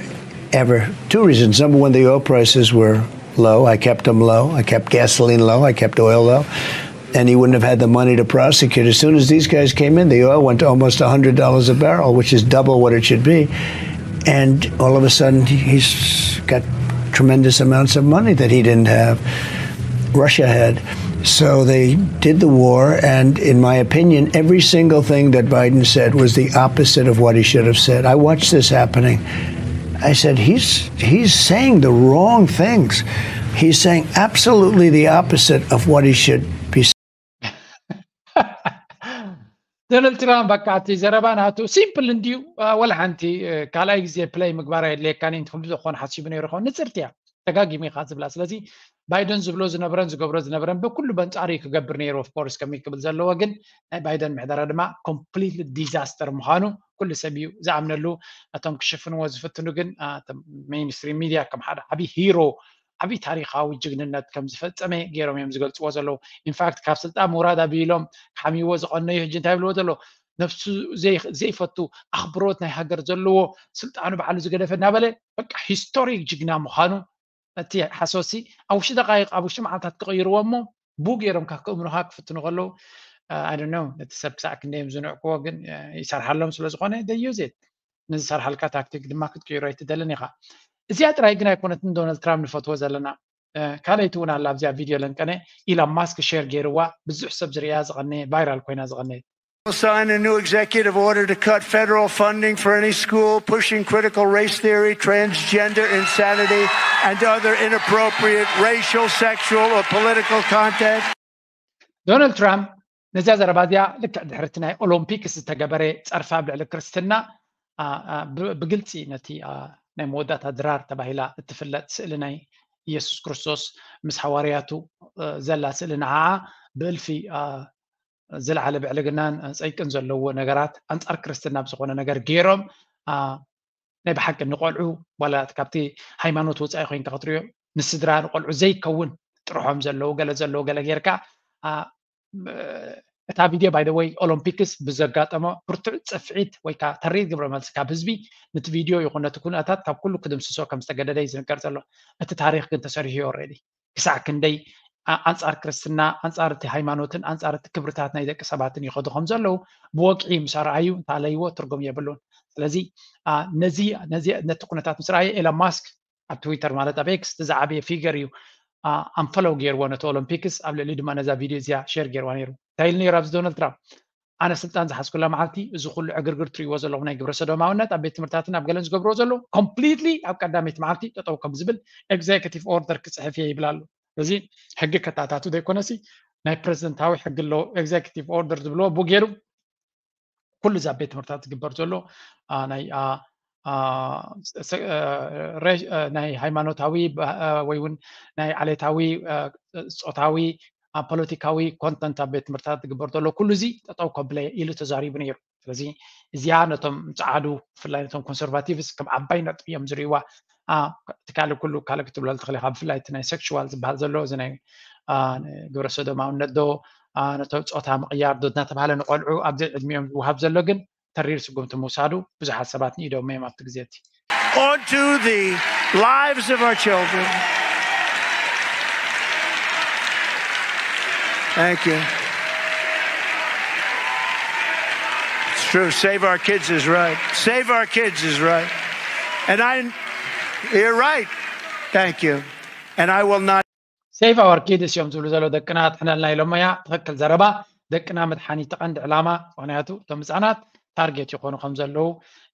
ever. Two reasons. Number one, the oil prices were low. I kept them low. I kept gasoline low. I kept oil low. And he wouldn't have had the money to prosecute. As soon as these guys came in, the oil went to almost one hundred dollars a barrel, which is double what it should be. And all of a sudden, he's got tremendous amounts of money that he didn't have. Russia had. So they did the war, and in my opinion, every single thing that Biden said was the opposite of what he should have said. I watched this happening. I said, he's he's saying the wrong things. He's saying absolutely the opposite of what he should be saying. ዶናልድ ትራምፕ በቃ እቲ ዘረባ ናቱ ሲምፕል እንድዩ። ወላ ሓንቲ ካልኣይ ግዜ ፕለይ ምግባር ኣየድልየካን እዩ። እንተኹም ዝኾነ ሓሲቡ ነይሩ ኸውን ንፅርቲ እያ። ተጋጊሙ ኢኻ ዝብላ። ስለዚ ባይደን ዝብሎ ዝነበረን ዝገብሮ ዝነበረን ብኩሉ በንጻሩ እዩ ክገብር ነይሩ። ኦፍኮርስ ከመይ ክብል ዘለዎ ግን ናይ ባይደን ምሕደራ ድማ ኮምፕሊትሊ ዲዛስተር ምዃኑ ኩሉ ሰብ እዩ ዝኣምነሉ። ነቶም ክሽፍንዎ ዝፍትኑ ግን ሜይንስትሪም ሚድያ ከም ሓደ ዓብዪ ሂሮ ዓብዪ ታሪካዊ ጅግንነት ከም ዝፈጸመ ገይሮም እዮም ዝገልፅዎ ዘለዉ። ኢንፋክት ካብ ስልጣን ምውራድ ኣቢሎም ክሓምይዎ ዝቐነዩ ሕጂ እንታይ ብልዎ ዘሎ ነብሱ ዘይፈቱ ኣኽብሮት ናይ ሃገር ዘለዎ ስልጣኑ ባዕሉ ዝገደፈ እናበለ በቃ ሂስቶሪክ ጅግና ምዃኑ እቲ ሓሶሲ ኣብ ውሽጢ ደቃይቅ ኣብ ውሽጢ መዓልታት ክቕይርዎ እሞ ቡ ገይሮም ካብ ክእምኑኻ ክፍትኑ ከለዉ ኣይ ዶንት ኖ ነቲ ሰብ ክሳዕ ክንደይ እዮም ዝንዕቅዎ ግን ይሰርሓሎም ስለ ዝኾነ they use it። ንዝሰርሓልካ ታክቲክ ድማ ክትቅይሮ ኣይትደልን ኢኻ። እዚኣ ጥራይ ግን ኣይኮነትን ዶናልድ ትራምፕ ንፈትዎ ዘለና ካልኣይቲ እውን ኣላ ኣብዚኣ ቪድዮ ለንቀነ ኢሎን ማስክ ሼር ገይርዋ ብዙሕ ሰብ ዝርእያ ዝቐነየ ቫይራል ኮይና ዝቐነየት Sign a new executive order to cut federal funding for any school pushing critical race theory, transgender insanity, and other inappropriate racial, sexual, or political content. ዶናልድ ትራምፕ ነዚያ ዘረባ እዚኣ ልክዕ ድሕርቲ ናይ ኦሎምፒክስ ዝተገበረ ፀርፊ ኣብ ልዕሊ ክርስትና ብግልፂ ነቲ ናይ መወዳእታ ድራር ተባሂላ እትፍለጥ ስእሊ ናይ ኢየሱስ ክርስቶስ ምስ ሃዋርያቱ ዘላ ስእሊ ንዓዓ ብእልፊ ዝለዓለ ብዕልግናን ፀይቅን ዘለዎ ነገራት ኣንፃር ክርስትና ብዝኾነ ነገር ገይሮም ናይ ብሓቂ ንቆልዑ ዋላ ካብቲ ሃይማኖት ወፃኢ ኮይንካ ክትሪኦ ንስድራ ንቆልዑ ዘይከውን ጥርሖም ዘለዉ ገለ ዘለዉ ገለ ጌርካ እታ ቪድዮ ባይ ወይ ኦሎምፒክስ ብዘጋጠሞ ብርቱዕ ጽፍዒት ወይ ከዓ ተሪር ግብረ መልሲ ካብ ህዝቢ፣ ነቲ ቪድዮ ይኹን ነቲ ኩነታት ካብ ኩሉ ክድምስሶ ከም ዝተገደደ እዩ ዝንገር ዘሎ። እቲ ታሪኽ ግን ተሰሪሑ እዩ ኦልሬዲ። ክሳዕ ክንደይ ኣንፃር ክርስትና፣ ኣንፃር እቲ ሃይማኖትን ኣንፃር እቲ ክብርታት ናይ ደቂ ሰባትን ይኸዱ ከም ዘለዉ ብወግዒ ምስ ኣርኣዩ እንተኣለይዎ ትርጉም የብሉን። ስለዚ ነዚ ነቲ ኩነታት ምስ ረኣየ ኤሎን ማስክ ኣብ ትዊተር ማለት ኣብ ኤክስ እቲ ዝዓበየ ፊገር እዩ ኣንፈለው ገይርዎ ነቲ ኦሎምፒክስ። ኣብ ልዕሊ ድማ ነዛ ቪድዮ እዚኣ ሼር ገይርዋ ነይሩ። እንታይ ኢሉ ነይሩ ኣብዚ ዶናልድ ትራምፕ? ኣነ ስልጣን ዝሓዝኩላ መዓልቲ እዚ ኩሉ ዕግርግር ትሪእዎ ዘለኹም ናይ ግብረ ሰዶማውነት ኣብ ቤት ትምህርታትን ኣብ ገለን ዝገብርዎ ዘለዉ ኮምፕሊትሊ ኣብ ቀዳመይቲ መዓልቲ ጠጠው ከም ዝብል ኤግዜኪቲቭ ኦርደር ክፅሕፍ እየ ይብል ኣሎ። እዚ ሕጊ ከታታቱ ዘይኮነሲ ናይ ፕሬዚደንታዊ ሕጊ ኣለዎ። ኤግዜኪቲቭ ኦርደር ዝብልዎ ብኡ ገይሩ ኩሉ እዚ ኣብ ቤት ትምህርታት ዝግበር ዘሎ ናይ ናይ ሃይማኖታዊ ወይ እውን ናይ ዓሌታዊ ፆታዊ ፖለቲካዊ ኮንተንት ኣብ ቤት ትምህርታት ዝግበር ዘሎ ኩሉ እዚ ጠጠው ከብለ ኢሉ ተዛሪቡ ነይሩ። ስለዚ እዚኣ ነቶም ፀዓዱ ብፍላይ ነቶም ኮንሰርቫቲቭስ ከም ዓባይ ነጥቢ እዮም ዝርእይዋ። እቲ ካልእ ኩሉ ካልእ ክትብሎ ትኽእል ኢኻ። ብፍላይ እቲ ናይ ሴክሹዋል ዝበሃል ዘሎ እዚ ናይ ግብረ ሰዶማውነት ዶ ነቶም ፆታ ምቕያር ዶ እናተባሃለ ንቆልዑ ኣብዚ ዕድሚኦም ዝወሃብ ዘሎ ግን ተሪር ስጉምቲ ምውሳዱ ብዙሓት ሰባት ንኢዶም እዮም ኣብቲ ግዜ እቲ onto the lives of our children. Thank you. It's true. Save our kids is right. Save our kids is right. And I, you're right. Thank you. And I will not. Save our kids እዮም ዝብሉ ዘለዉ። ደቅና ኣድሕነልና ኢሎሞ እያ። ትኽክል ዘረባ። ደቅና ምድሓን እዩ እቲ ቀንዲ ዕላማ። ምኽንያቱ እቶም ህፃናት ታርጌት ይኾኑ ከም ዘለዉ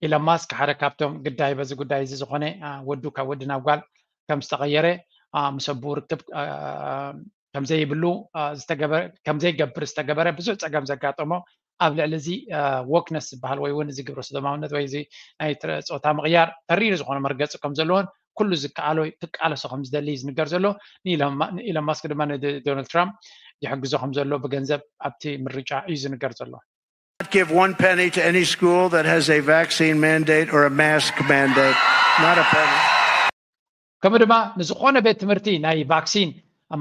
ኢሎን ማስክ ሓደ ካብቶም ግዳይ በዚ ጉዳይ እዚ ዝኾነ ወዱ ካብ ወዲ ናብ ጓል ከም ዝተቐየረ ምስ ኣቦኡ ርክብ ከምዘይብሉ ዝተገበረ ከምዘይገብር ዝተገበረ ብዙሕ ፀገም ዘጋጠሞ ኣብ ልዕሊ እዚ ወክነስ ዝበሃል ወይ እውን እዚ ግብረ ሰዶማውነት ወይ እዚ ናይ ጾታ ምቕያር ተሪር ዝኾነ መርገፂ ከም ዘለዎን ኩሉ ዝከኣሎ ክቃለሶ ከም ዝደሊ ዝንገር ዘሎ። ንኢሎን ማስክ ድማ ንዶናልድ ትራምፕ ይሕግዞ ከም ዘሎ ብገንዘብ ኣብቲ ምርጫ እዩ ዝንገር ዘሎ። Not give one penny to any school that has a vaccine mandate or a mask mandate. Not a penny. ከምኡ ድማ ንዝኾነ ቤት ትምህርቲ ናይ ቫክሲን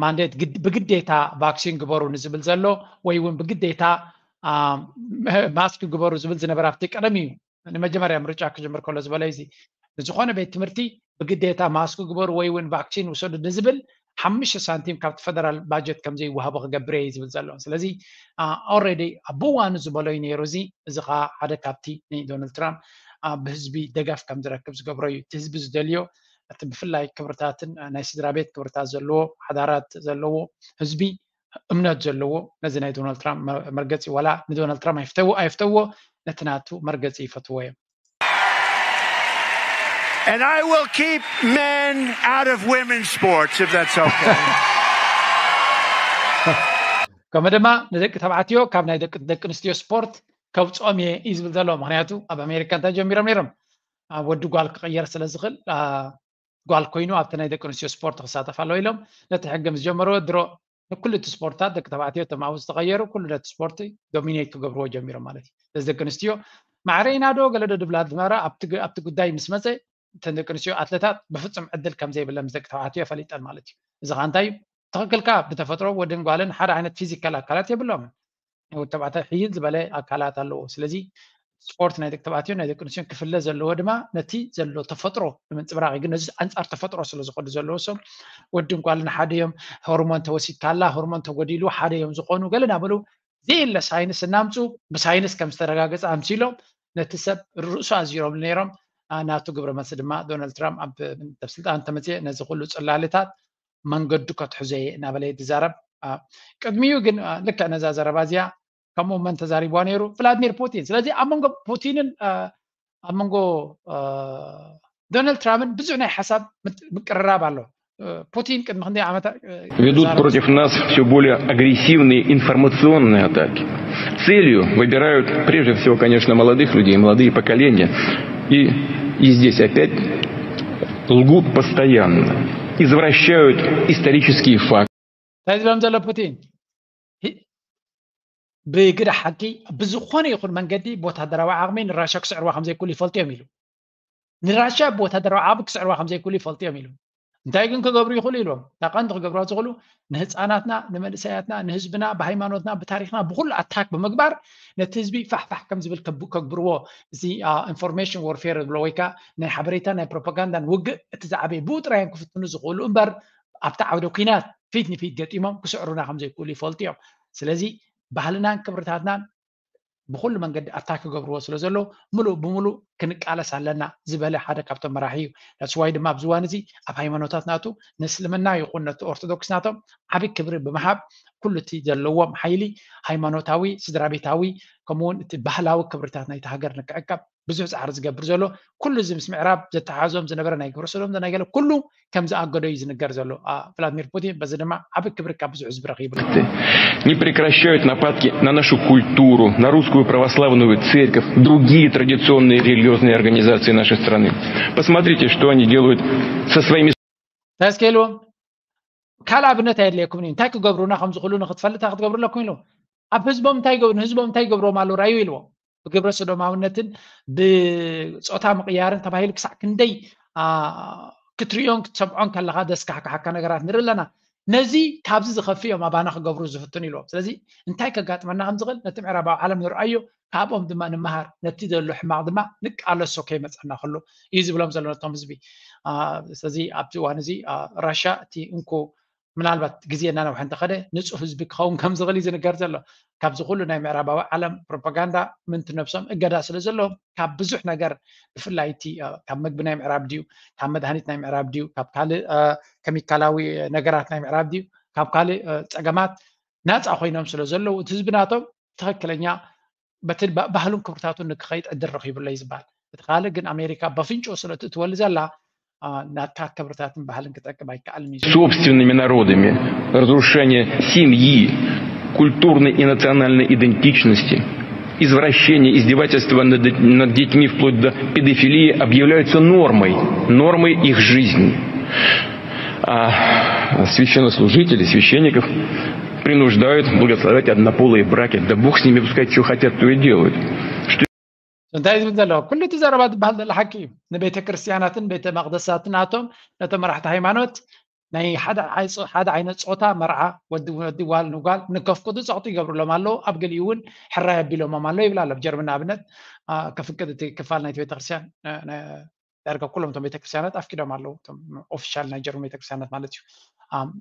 ማንዴት ብግዴታ ቫክሲን ግበሩ ንዝብል ዘሎ ወይ እውን ብግዴታ ማስክ ግበሩ ዝብል ዝነበረ ኣብቲ ቀደም እዩ ንመጀመርያ ምርጫ ክጅምር ከሎ ዝበለ እዚ ንዝኾነ ቤት ትምህርቲ ብግዴታ ማስክ ግበሩ ወይ እውን ቫክሲን ውሰዱ ንዝብል ሓሙሽተ ሳንቲም ካብቲ ፈደራል ባጀት ከም ዘይወሃቦ ክገብር እየ ዝብል ዘሎ። ስለዚ ኦልሬዲ ኣብ እዋኑ ዝበሎ እዩ ነይሩ። እዚ እዚ ከዓ ሓደ ካብቲ ንዶናልድ ትራምፕ ብህዝቢ ደገፍ ከም ዝረክብ ዝገብሮ እዩ። እቲ ህዝቢ ዝደልዮ እቲ ብፍላይ ክብርታትን ናይ ስድራ ቤት ክብርታት ዘለዎ ሓዳራት ዘለዎ ህዝቢ እምነት ዘለዎ ነዚ ናይ ዶናልድ ትራምፕ መርገፂ ዋላ ንዶናልድ ትራምፕ ኣይፍተዎ ኣይፍተዎ ነቲ ናቱ መርገፂ ይፈትዎ እዮም። And I will keep men out of women's sports if that's okay. ከምኡ ድማ ንደቂ ተባዕትዮ ካብ ናይ ደቂ ኣንስትዮ ስፖርት ከውፅኦም እየ እዩ ዝብል ዘሎ። ምክንያቱ ኣብ ኣሜሪካ እንታይ ጀሚሮም ነይሮም ወዲ ጓል ክቕየር ስለ ዝኽእል ጓል ኮይኑ ኣብቲ ናይ ደቂ ኣንስትዮ ስፖርት ክሳተፍ ኣለዎ ኢሎም ነቲ ሕጊ ምስ ጀመርዎ ድሮ ንኩሉ እቲ ስፖርትታት ደቂ ተባዕትዮ እቶም ኣብኡ ዝተቐየሩ ኩሉ ነቲ ስፖርት ዶሚኔት ክገብርዎ ጀሚሮም ማለት እዩ። ስለዚ ደቂ ኣንስትዮ ማዕረ ኢና ዶ ገለ ዶ ድብላ ዝነበራ ኣብቲ ጉዳይ ምስ መፀ እተን ደቂ ኣንስትዮ ኣትለታት ብፍፁም ዕድል ከም ዘይብለን ምስ ደቂ ተባዕትዮ ፈሊጠን ማለት እዩ። እዚ ከዓ እንታይ እዩ? ትኽክልካ ብተፈጥሮ ወድን ጓልን ሓደ ዓይነት ፊዚካል ኣካላት የብሎምን። ናይ ወዲ ተባዕታይ ሕይል ዝበለ ኣካላት ኣለዎ። ስለዚ ስፖርት ናይ ደቂ ተባዕትዮ ናይ ደቂ ኣንስትዮን ክፍለ ዘለዎ ድማ ነቲ ዘሎ ተፈጥሮ ንምንፅብራቕ ግን ነዚ ኣንፃር ተፈጥሮ ስለ ዝኸዱ ዘለዎ ሰብ ወድን ጓልን ሓደ እዮም። ሆርሞን ተወሲድካላ ሆርሞን ተጎዲሉ ሓደ እዮም ዝኾኑ ገለ ናበሉ ዘየለ ሳይንስ እናምፁ ብሳይንስ ከም ዝተረጋገፀ ኣምሲሎም ነቲ ሰብ ርእሱ ኣዚሮም ነይሮም። ናቱ ግብረ መልሲ ድማ ዶናልድ ትራምፕ ኣብ ስልጣን ተመፅአ ነዚ ኩሉ ፅላልታት መንገዱ ከትሕዞ እየ እናበለ ዝዛረብ። ቅድሚኡ ግን ልክዕ ነዛ ዘረባ እዚኣ ከምኡ መን ተዛሪብዋ ነይሩ? ቭላድሚር ፑቲን። ስለዚ ኣብ መንጎ ፑቲንን ኣብ መንጎ ዶናልድ ትራምፕን ብዙሕ ናይ ሓሳብ ምቅርራብ ኣሎ። Путин ቅድሚ ክንደይ ዓመታት Ведут против нас все более агрессивные информационные атаки. Целью выбирают прежде всего, конечно, молодых людей, молодые поколения. И, и здесь опять лгут постоянно, извращают исторические факты. እንታይ ዝብሎም ዘሎ ፑቲን ብግዳ ሓቂ ብዝኾነ ይኹን መንገዲ ብወታደራዊ ዓቕሚ ንራሻ ክስዕርዋ ከምዘይክእሉ ይፈልጡ እዮም ኢሉ። ንራሻ ብወታደራዊ ዓቕሚ ክስዕርዋ ከምዘይክእሉ ይፈልጡ እዮም ኢሉ። እንታይ ግን ክገብሩ ይኽእሉ ኢልዎም? እታ ቀንዲ ክገብርዋ ዝኽእሉ ንህፃናትና፣ ንመንእሰያትና፣ ንህዝብና፣ ብሃይማኖትና፣ ብታሪክና፣ ብኩሉ ኣታክ ብምግባር ነቲ ህዝቢ ፋሕፋሕ ከም ዝብል ከብ- ከግብርዎ፣ እዚ ኢንፎርሜሽን ወርፌር ዝብሎ ወይ ከዓ ናይ ሓበሬታ ናይ ፕሮፓጋንዳን ውግእ እቲ ዝዓበየ ብኡ ጥራይ እዮም ክፍትኑ ዝኽእሉ እምበር ኣብቲ ዓውደ ኩናት ፊት ንፊት ገጢሞም ክስዕሩና ከም ዘይክእሉ ይፈልጡ እዮም። ስለዚ ባህልናን ክብርታትናን ብኩሉ መንገዲ ኣታክ ክገብርዎ ስለ ዘለዉ ምሉእ ብምሉእ ክንቃለስ ኣለና ዝበለ ሓደ ካብቶም መራሒ እዩ። That's why ድማ ኣብዚ እዋን እዚ ኣብ ሃይማኖታት ናቱ ንእስልምና ይኹን ነቲ ኦርቶዶክስ ናቶም ዓቢ ክብሪ ብምሃብ ኩሉ እቲ ዘለዎም ሓይሊ ሃይማኖታዊ፣ ስድራ ቤታዊ ከምኡውን እቲ ባህላዊ ክብርታት ናይቲ ሃገር ንክዕቀብ ብዙሕ ፃዕሪ ዝገብር ዘሎ ኩሉ እዚ ምስ ምዕራብ ዘተሓዞም ዝነበረ ናይ ግብረ ሰዶም ናይ ገለ ኩሉ ከም ዝኣገዶ እዩ ዝንገር ዘሎ ቭላድሚር ፑቲን። በዚ ድማ ዓቢ ክብሪ ካብ ብዙሕ ህዝቢ ረኺቡ። Не прекращают нападки на нашу культуру, на русскую православную церковь, другие традиционные религиозные организации нашей страны. Посмотрите, что они делают со своими እንታይ እስከ ኢልዎም ካልእ ኣብነት ኣየድልየኩም እዩ እንታይ ክገብሩና ከም ዝኽእሉ ንክትፈልጥ ክትገብሩ ኣለኩም ኢሉ ኣብ ህዝቦም እንታይ ይገብሩ ንህዝቦም እንታይ ይገብርዎም ኣለዉ ራዩ ኢልዎም ብግብረ ሰዶማውነትን ብፆታ ምቕያርን ተባሂሉ ክሳዕ ክንደይ ክትሪኦን ክትሰምዖን ከለካ ዘስካሕክሓካ ነገራት ንርኢ ኣለና ነዚ ካብዚ ዝኸፍእ እዮም ኣባና ክገብሩ ዝፍትኑ ኢልዎም ስለዚ እንታይ ከጋጥመና ከም ዝኽእል ነቲ ምዕራባዊ ዓለም ንርኣዮ ካብኦም ድማ ንምሃር ነቲ ዘሎ ሕማቕ ድማ ንቃለሶ ከይመፀና ከሎ እዩ ዝብሎም ዘሎ ነቶም ህዝቢ ስለዚ ኣብቲ እዋን እዚ ራሻ እቲ እንኮ ምናልባት ግዜ እናነውሐ እንተኸደ ንፁህ ህዝቢ ክኸውን ከም ዝኽእል እዩ ዝንገር ዘሎ ካብዚ ኩሉ ናይ ምዕራባዊ ዓለም ፕሮፓጋንዳ ምንቲ ነብሶም እገዳ ስለ ዘለዎም ካብ ብዙሕ ነገር ብፍላይ እቲ ካብ መግቢ ናይ ምዕራብ ድዩ ካብ መድሃኒት ናይ ምዕራብ ድዩ ካብ ካልእ ከሚካላዊ ነገራት ናይ ምዕራብ ድዩ ካብ ካልእ ፀገማት ናፃ ኮይኖም ስለ ዘለዉ እቲ ህዝቢ ናቶም ትኽክለኛ በቲ ባህሉን ክብርታቱን ንክኸይድ ዕድል ረኺቡለይ ዝበሃል እቲ ካልእ ግን ኣሜሪካ በፍንጮ ስለ ትእትወሉ ዘላ ናትካ ክብርታትን ባህልን ክጠቅም ኣይከኣልን እዩ собственными народами, разрушение семьи, культурной и национальной идентичности, извращение, издевательство над, над детьми вплоть до педофилии объявляются нормой, нормой их жизни. А священнослужители, священников принуждают благословлять однополые браки. Да бог с ними, пускай что хотят, то и делают. እንታይ ዝብል ዘሎ ኩሉ እቲ ዘረባ ዝበሃል ዘሎ ሓቂ እዩ ንቤተ ክርስትያናትን ቤተ መቅደሳትን ኣቶም ነቶም መራሕቲ ሃይማኖት ናይ ሓደ ዓይነት ፆታ መርዓ ወዲ ወዲ ጓል ንጓል ንከፍቅዱ ፀቕጡ ይገብሩሎም ኣለዉ ኣብ ገሊኡ እውን ሕራይ ኣቢሎሞም ኣሎ ይብል ኣሎ ጀርመን ኣብነት ከፍቅድ እቲ ክፋል ናይቲ ቤተክርስትያን ዳርጋ ኩሎም እቶም ቤተክርስትያናት ኣፍቂዶም ኣለዉ እቶም ኦፊሻል ናይ ጀርመን ቤተክርስትያናት ማለት እዩ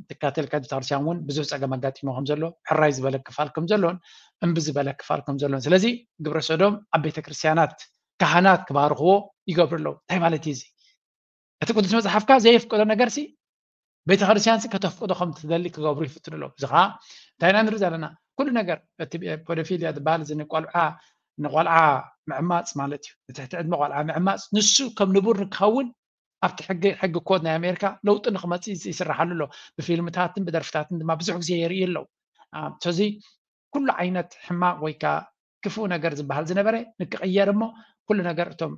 ትካተል ቤተክርስትያን እውን ብዙሕ ፀገም ኣጋጢሞ ከም ዘሎ ሕራይ ዝበለ ክፋል ከም ዘሎን እምቢ ዝበለ ክፋል ከም ዘሎን ስለዚ ግብረ ሰዶም ኣብ ቤተክርስትያናት ካህናት ክባርኽዎ ይገብሩ ኣለዉ እንታይ ማለት እዩ እዚ እቲ ቅዱስ መፅሓፍካ ዘየፍቀዶ ነገር ሲ ቤተክርስትያን ሲ ከተፍቅዶ ከም ትደሊ ክገብሩ ይፍትኑ ኣለዉ እዚ ከዓ እንታይ ኢና ንርኢ ዘለና ኩሉ ነገር እቲ ፖዶፊልያ ዝበሃል እዚ ንቆልዓ ንቆልዓ ምዕማፅ ማለት እዩ ንትሕቲ ዕድመ ቆልዓ ምዕማፅ ንሱ ከም ንቡር ንክኸውን ኣብቲ ሕጊ ሕጊ ኮድ ናይ ኣሜሪካ ለውጢ ንክመፅእ ይስራሓሉ ኣሎ ብፊልምታትን ብደርፍታትን ድማ ብዙሕ ግዜ የርኢ ኣለዉ ስለዚ ኩሉ ዓይነት ሕማቅ ወይ ከዓ ክፉእ ነገር ዝበሃል ዝነበረ ንክቕየር እሞ ኩሉ ነገር እቶም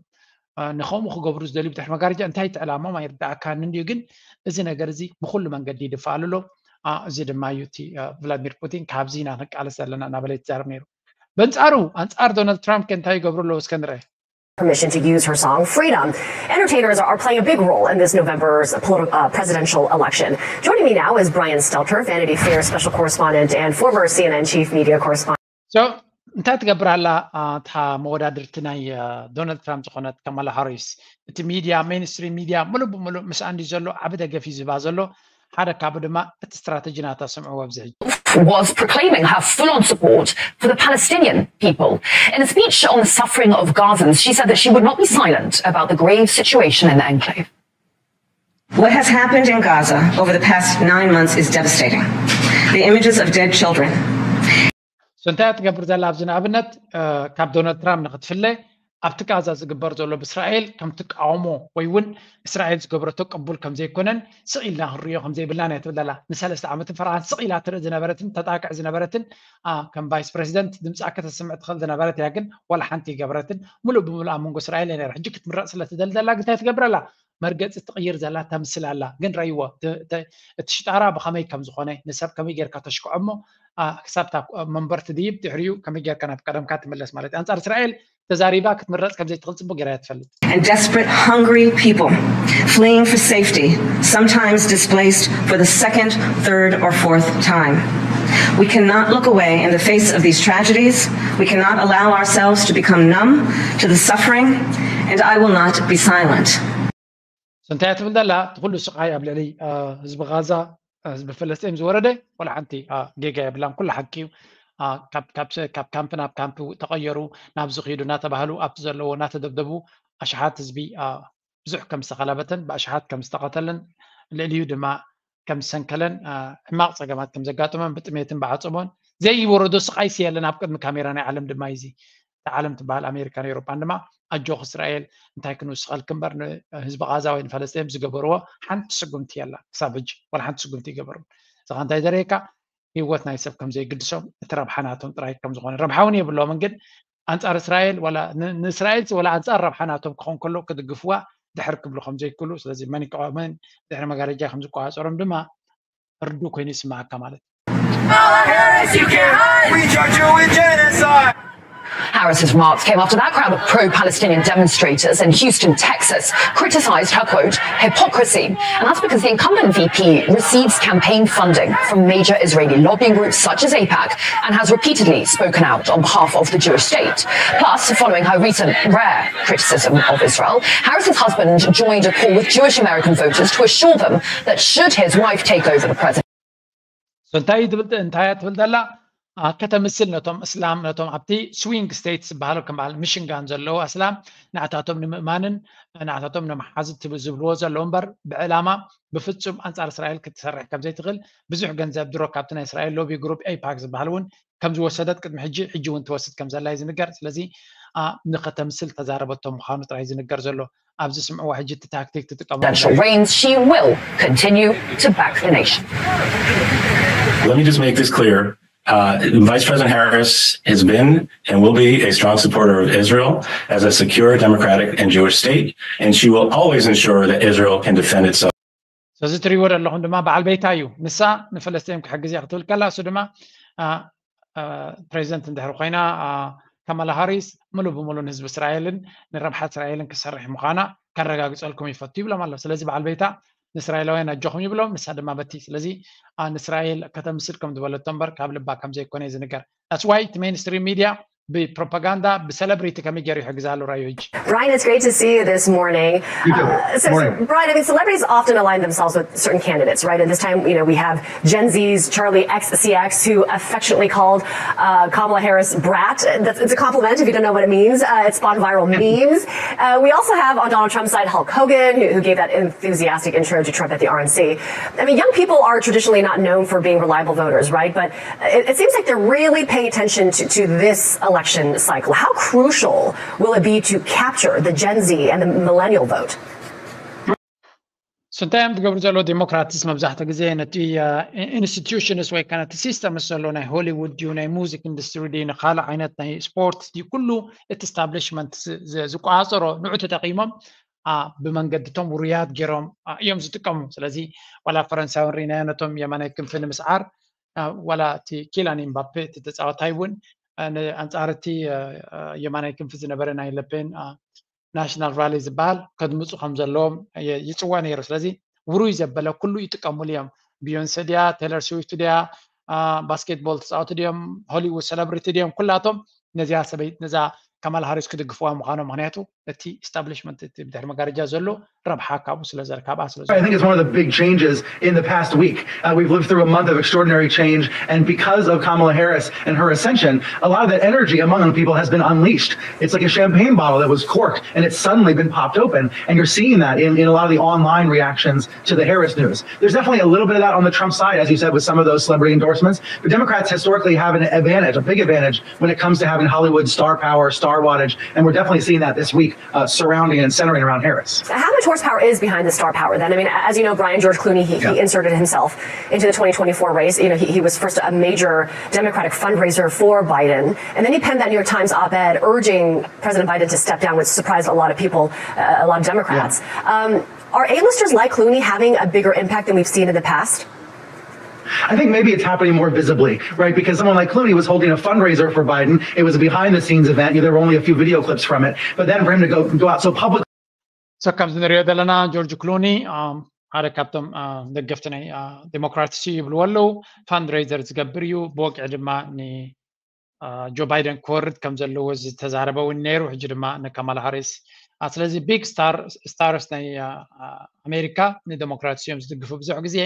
ንከምኡ ክገብሩ ዝደልዩ ብድሕሪ መጋረጃ እንታይ ትዕላሞም ኣይርዳእካን እንድዩ ግን እዚ ነገር እዚ ብኩሉ መንገዲ ይድፋኣሉ ኣሎ እዚ ድማ እዩ እቲ ቭላድሚር ፑቲን ካብዚ ኢና ንቃለስ ዘለና እናበለ ትዛረብ ነይሩ በንፃሩ ኣንፃር ዶናልድ ትራምፕ ከ እንታይ ይገብሩ ኣለዉ እስከ ንርአ permission to use her song Freedom. Entertainers are playing a big role in this November's politi- uh, presidential election. Joining me now is Brian Stelter, Vanity Fair special correspondent and former C N N chief media correspondent. So እንታይ ትገብር ኣላ እታ መወዳድርቲ ናይ ዶናልድ ትራምፕ ዝኾነት ከማላ ሃሪስ እቲ ሚድያ ሜንስትሪም ሚድያ ሙሉእ ብሙሉእ ምስ ኣንዲ ዘሎ ዓቢ ደገፍ እዩ ዝባ ዘሎ ሓደ ካብኡ ድማ እቲ ስትራተጂ ናታ ስምዕዎ ኣብዚ ሕጂ was proclaiming her full on support for the Palestinian people. In a speech on the suffering of Gazans, she said that she would not be silent about the grave situation in the enclave. What has happened in Gaza over the past nine months is devastating. The images of dead children, So እንታይ ትገብር ዘላ ኣብዚ ንኣብነት ካብ ዶናልድ ትራምፕ ንክትፍለ ኣብቲ ጋዛ ዝግበር ዘሎ ብእስራኤል ከም ትቃወሞ ወይ እውን እስራኤል ዝገብረቶ ቅቡል ከም ዘይኮነን ስቕ ኢልና ክንሪኦ ከም ዘይብልና እያ ትብል ዘላ ንሰለስተ ዓመትን ፈረቓን ስቕ ኢላ ትርኢ ዝነበረትን ተጣቅዕ ዝነበረትን ከም ቫይስ ፕሬዚደንት ድምፃ ከተስምዕ ትኽእል ዝነበረት እያ ግን ዋላ ሓንቲ ይገብረትን ሙሉእ ብምሉእ ኣብ መንጎ እስራኤል እያ ነራ ሕጂ ክትምረቕ ስለ ትደሊ ዘላ ግታይ ትገብረላ መርገፂ ትቕይር ዘላ ተምስል ኣላ ግን ረይዎ እቲ ሽጣራ ብኸመይ ከም ዝኾነ ንሰብ ከመይ ጌርካ ተሽክዖ እሞ ክሳብ መንበርቲ ድይብ ድሕሪኡ ከመይ ጌርካ ናብ ቀደምካ ትምለስ ማለት እዩ ኣንፃር እስራኤል ተዛሪባ ክትምረፅ ከምዘይትኽእል ፅቡቅ ገይራ እያ ትፈልጥ። and desperate, hungry people fleeing for safety, sometimes displaced for the second, third, or fourth time. We cannot look away in the face of these tragedies. We cannot allow ourselves to become numb to the suffering, and I will not be silent. So እንታይ እያ ትብል ዘላ? እቲ ኩሉ ስቃይ ኣብ ልዕሊ ህዝቢ ጋዛ፣ ህዝቢ ፍልስጤም ዝወረደ፣ ወላ ሓንቲ ጌጋ የብላን። ኩሉ ሓቂ እዩ። ካብ ካምፕ ናብ ካምፕ ተቐየሩ፣ ናብዚ ኺዱ እናተባህሉ ኣብቲ ዘለዎ እናተደብደቡ ኣሽሓት ህዝቢ ብዙሕ ከም ዝተኸላበተን ብኣሽሓት ከም ዝተቐተለን ልዕሊኡ ድማ ከም ዝሰንከለን ሕማቕ ጸገማት ከም ዘጋጠሞን ብጥሜትን ብዓጸቦን ዘይወረዶ ስቓይሲ የለን ኣብ ቅድሚ ካሜራ ናይ ዓለም ድማ እዩ እዚ። እታ ዓለም ትበሃል ኣሜሪካን ኤውሮጳን ድማ ኣጆኽ እስራኤል እንታይ ክንውስኸልክ እምበር ንህዝቢ ቓዛ ወይ ንፈለስጤም ዝገበርዎ ሓንቲ ስጉምቲ የላ ክሳብ ሕጂ ወላ ሓንቲ ስጉምቲ ይገበሩ። እዚኻ እንታይ ዘርእየካ ህይወት ናይ ሰብ ከም ዘይግድሶም እቲ ረብሓ ናቶም ጥራይ ከም ዝኾነ ረብሓ እውን የብሎምን ግን ኣንጻር እስራኤል ወላ ንእስራኤል ወላ ኣንጻር ረብሓ ናቶም ክኾን ከሎ ክድግፍዋ ድሕር ክብሉ ከም ዘይክእሉ ስለዚ መን ይቃወመን ድሕሪ መጋረጃ ከም ዝቆጻጸሮም ድማ ርዱእ ኮይኑ ይስምዓካ ማለት Harris's remarks came after that crowd of pro Palestinian demonstrators in Houston, Texas, criticized her, quote, hypocrisy. And that's because the incumbent V P receives campaign funding from major Israeli lobbying groups such as AIPAC and has repeatedly spoken out on behalf of the Jewish state. Plus, following her recent rare criticism of Israel, Harris's husband joined a call with Jewish American voters to assure them that should his wife take over the presidency, እንታይ ትብል እንታይ ትብል ዘላ ከተምስል ነቶም እስላም ነቶም ኣብቲ ስዊንግ ስቴትስ ዝበሃሉ ከም በዓል ሚሽንጋን ዘለዉ ኣስላም ንዓታቶም ንምእማንን ንዓታቶም ንምሓዝ ዝብልዎ ዘለዉ እምበር ብዕላማ ብፍጹም ኣንጻር እስራኤል ክትሰርሕ ከም ዘይትኽእል ብዙሕ ገንዘብ ድሮ ካብቲ ናይ እስራኤል ሎቢ ግሩፕ ኤይፓክ ዝበሃል እውን ከም ዝወሰደት ቅድሚ ሕጂ ሕጂ እውን ትወስድ ከም ዘላ እዩ ዝንገር ስለዚ ንኸተምስል ተዛረበቶ ምዃኑ ጥራይ ዝንገር ዘሎ ኣብዚ ስምዕዋ ሕጂ እቲ ታክቲክ ትጥቀሙ presidential reigns, she will continue to back the nation. Let me just make this clear. Uh, Vice President Harris has been and will be a strong supporter of Israel as a secure, democratic, and Jewish state, and she will always ensure that Israel can defend itself. ስለዚ ትሪእዎ ዘለኹም ድማ በዓል ቤታ እዩ። ንሳ ንፈለስጤም ክሕግዝ እያ ክትብል ከላ እሱ ድማ ፕሬዚደንት እንድሕር ኮይና ካማላ ሃሪስ ሙሉ ብሙሉ ንህዝቢ እስራኤልን ንረብሓት እስራኤልን ክሰርሕ ምዃና ከረጋግፀልኩም ይፈቱ ይብሎም ኣሎ። ስለዚ በዓል ቤታ ንእስራኤላውያን ኣጆኹም ይብሎም፣ ንሳ ድማ በቲ ስለዚ ንእስራኤል ከተምስል ከም ዝበለቶ እምበር ካብ ልባ ከም ዘይኮነ እዩ ዝንገር። That's why እቲ mainstream media ብፕሮፓጋንዳ ብሰለብሪቲ ከመይ ገይሩ ይሕግዛ ኣሎ ራዮ ሕጂ። Brian, it's great to see you this morning. You too. Uh, so, Morning. So, Brian, I mean, celebrities often align themselves with certain candidates, right? And this time, you know, we have Gen Z's Charli X C X, who affectionately called uh, Kamala Harris brat. That's, it's a compliment if you don't know what it means. Uh, it's spawned viral memes. Uh, we also have on Donald Trump's side Hulk Hogan, who, who gave that enthusiastic intro to Trump at the R N C. I mean, young people are traditionally not known for being reliable voters, right? But it, it seems like they're really paying attention to, to this election cycle. How crucial will it be to capture the Gen Z and the millennial vote? እንታይ እዮም ዝገብሩ ዘለዉ ዴሞክራትስ መብዛሕትኡ ግዜ ነቲ ኢንስቲቱሽንስ ወይ ከዓ ነቲ ሲስተምስ ዘሎ ናይ ሆሊውድ ድዩ ናይ ሙዚክ ኢንዱስትሪ ድዩ ንካልእ ዓይነት ናይ ስፖርት ድዩ ኩሉ እቲ ስታብሊሽመንት ዝቆፃፀሮ ንዑ ተጠቂሞም ብመንገድቶም ውሩያት ገይሮም እዮም ዝጥቀሙ። ስለዚ ዋላ ፈረንሳውያን ርኢናዮ ነቶም የማናይ ክንፊ ንምስዓር ዋላ እቲ ኪላን ኢምባፔ እቲ ተፃዋታይ እውን ኣንፃር እቲ የማናይ ክንፊ ዝነበረ ናይ ለፔን ናሽናል ራሊ ዝበሃል ከድምፁ ከም ዘለዎም ይፅወ ነይሩ። ስለዚ ውሩይ ዘበለ ኩሉ ይጥቀሙሉ እዮም። ቢዮንሰ ድያ፣ ቴለር ስዊፍት ድያ፣ ባስኬትቦል ተፃወቲ ድዮም፣ ሆሊውድ ሰለብሪቲ ድዮም፣ ኩላቶም ነዚኣ ሰበይት ነዛ ካማላ ሃሪስ ክድግፍዋ ምዃኖም ምክንያቱ እቲ ኢስታብሊሽመንት እቲ ብድሕሪ መጋረጃ ዘሎ ረብሓ ካብኡ ስለ ዘረ ካብኣ ስለ I think it's one of the big changes in the past week. Uh, we've lived through a month of extraordinary change, and because of Kamala Harris and her ascension, a lot of that energy among young people has been unleashed. It's like a champagne bottle that was corked and it's suddenly been popped open, and you're seeing that in, in a lot of the online reactions to the Harris news. There's definitely a little bit of that on the Trump side, as you said, with some of those celebrity endorsements. But Democrats historically have an advantage, a big advantage, when it comes to having Hollywood star power, star wattage, and we're definitely seeing that this week uh, surrounding and centering around Harris. How much horsepower is behind the star power then? I mean, as you know, Brian George Clooney, he, yeah. he inserted himself into the twenty twenty-four race. You know, he, he was first a major Democratic fundraiser for Biden. And then he penned that New York Times op-ed urging President Biden to step down, which surprised a lot of people, uh, a lot of Democrats. Yeah. Um, are A-listers like Clooney having a bigger impact than we've seen in the past? I think maybe it's happening more visibly, right? Because someone like Clooney was holding a fundraiser for Biden. It was a behind the scenes event. There were only a few video clips from it. But then for him to go, go out so public. So ከምዚ ንሪኦ ዘለና ጆርጅ ክሉኒ ሓደ ካብቶም ደገፍቲ ናይ ዴሞክራትስ ይብልዎ ኣለዉ። ፋንድሬዘር ዝገብር እዩ። ብወግዒ ድማ ጆ ባይደን ክወርድ ከም ዘለዎ ዝተዛረበ እውን ነይሩ። ሕጂ ድማ ንካማላ ሃሪስ ስለዚ ቢግ ስታርስ ናይ ኣሜሪካ ንደሞክራትስ እዮም ዝድግፉ ብዙሕ ግዜ።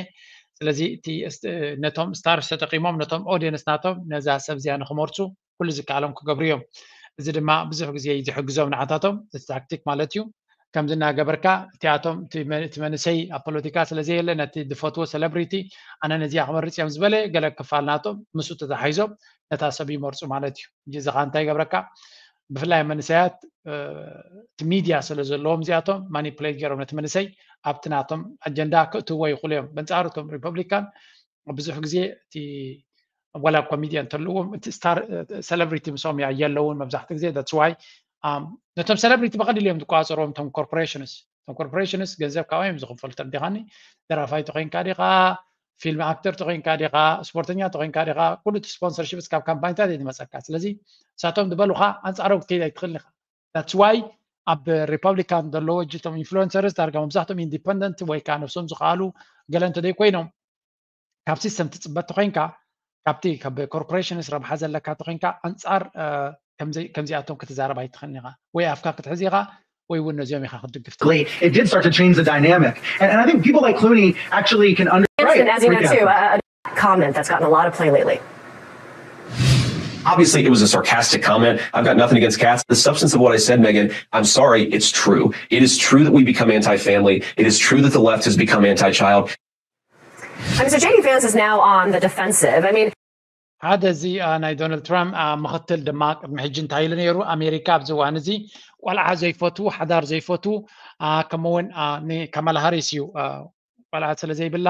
ስለዚ እቲ ነቶም ስታርስ ተጠቂሞም ነቶም ኦዲየንስ ናቶም ነዛ ሰብ እዚኣ ንክመርፁ ኩሉ ዝከኣሎም ክገብሩ እዮም። እዚ ድማ ብዙሕ ግዜ እዩ ዝሕግዞም ንዓታቶም። ታክቲክ ማለት እዩ። ከምዚ እናገበርካ እቲኣቶም እቲ መንእሰይ ኣብ ፖለቲካ ስለዘየለ ነቲ ዝፈትዎ ሰለብሪቲ ኣነ ነዚኣ ክመርፅ እዮም ዝበለ ገለ ክፋል ናቶም ምስኡ ተታሓይዞም ነታ ሰብ ይመርፁ ማለት እዩ። እዚ ከዓ እንታይ ይገብረካ? ብፍላይ መንእሰያት እቲ ሚድያ ስለ ዘለዎም እዚኣቶም ማኒፕሌት ገይሮም ነቲ መንእሰይ ኣብቲ ናቶም ኣጀንዳ ክእትዎ ይኽእሉ እዮም። በንፃሩ እቶም ሪፐብሊካን ብዙሕ ግዜ እቲ ዋላ ኮሚድያ እንተለዎም እቲ ስታር ሰለብሪቲ ምስኦም የለውን መብዛሕትኡ ግዜ that's why ነቶም ሰለብሪቲ ብቐሊሉ እዮም ዝቆፃፀርዎም እቶም ኮርፖሬሽንስ። እቶም ኮርፖሬሽንስ ገንዘብ ካብኦም እዮም ዝኽፈሉ። ተረዲኻኒ? ደራፋይ ተኮይንካ ዲኻ፣ ፊልም ኣክተር ተኮይንካ ዲኻ፣ ስፖርተኛ ተኮይንካ ዲኻ፣ ኩሉ እቲ ስፖንሰርሽፕ ካብ ካምፓኒታት እዩ ዝመፀካ። ስለዚ ንሳቶም ዝበሉኻ ኣንፃሮም ክትከይድ ኣይትኽእልን ኢኻ። That's why ኣብ ሪፐብሊካን ዘለዉ እቶም ኢንፍሉንሰርስ ዳርጋ መብዛሕትኦም ኢንዲፐንደንት ወይ ከዓ ነብሶም ዝኸኣሉ ገለ እንተደይ ኮይኖም ካብ ሲስተም ትፅበ ተኮይንካ ካብቲ ካብ ኮርፖሬሽንስ ረብሓ ዘለካ ተኮይንካ ኣንፃር ከምዚኣቶም ክትዛረብ ኣይትኽእልን ኢኻ። ወይ ኣፍካ ክትሕዝ ኢኻ ወይ እውን ነዚኦም ኢኻ ክትድግፍ ትኽእል። It did start to change the dynamic. And, and I think people like Clooney actually can understand. As you know too, a, a comment that's gotten a lot of play lately. Obviously, it was a sarcastic comment. I've got nothing against cats. The substance of what I said, Megyn, I'm sorry, it's true. It is true that we become anti family. It is true that the left has become anti child. I mean, so J D Vance is now on the defensive. I mean, ሓደ እዚ ናይ ዶናልድ ትራምፕ ምክትል ድማ ቅድሚ ሕጂ እንታይ ኢሉ ነይሩ? ኣሜሪካ ኣብዚ እዋን እዚ ቆልዓ ዘይፈትዉ፣ ሓዳር ዘይፈትዉ፣ ከምኡውን ንካማላ ሃሪስ እዩ ቆልዓ ስለ ዘይብላ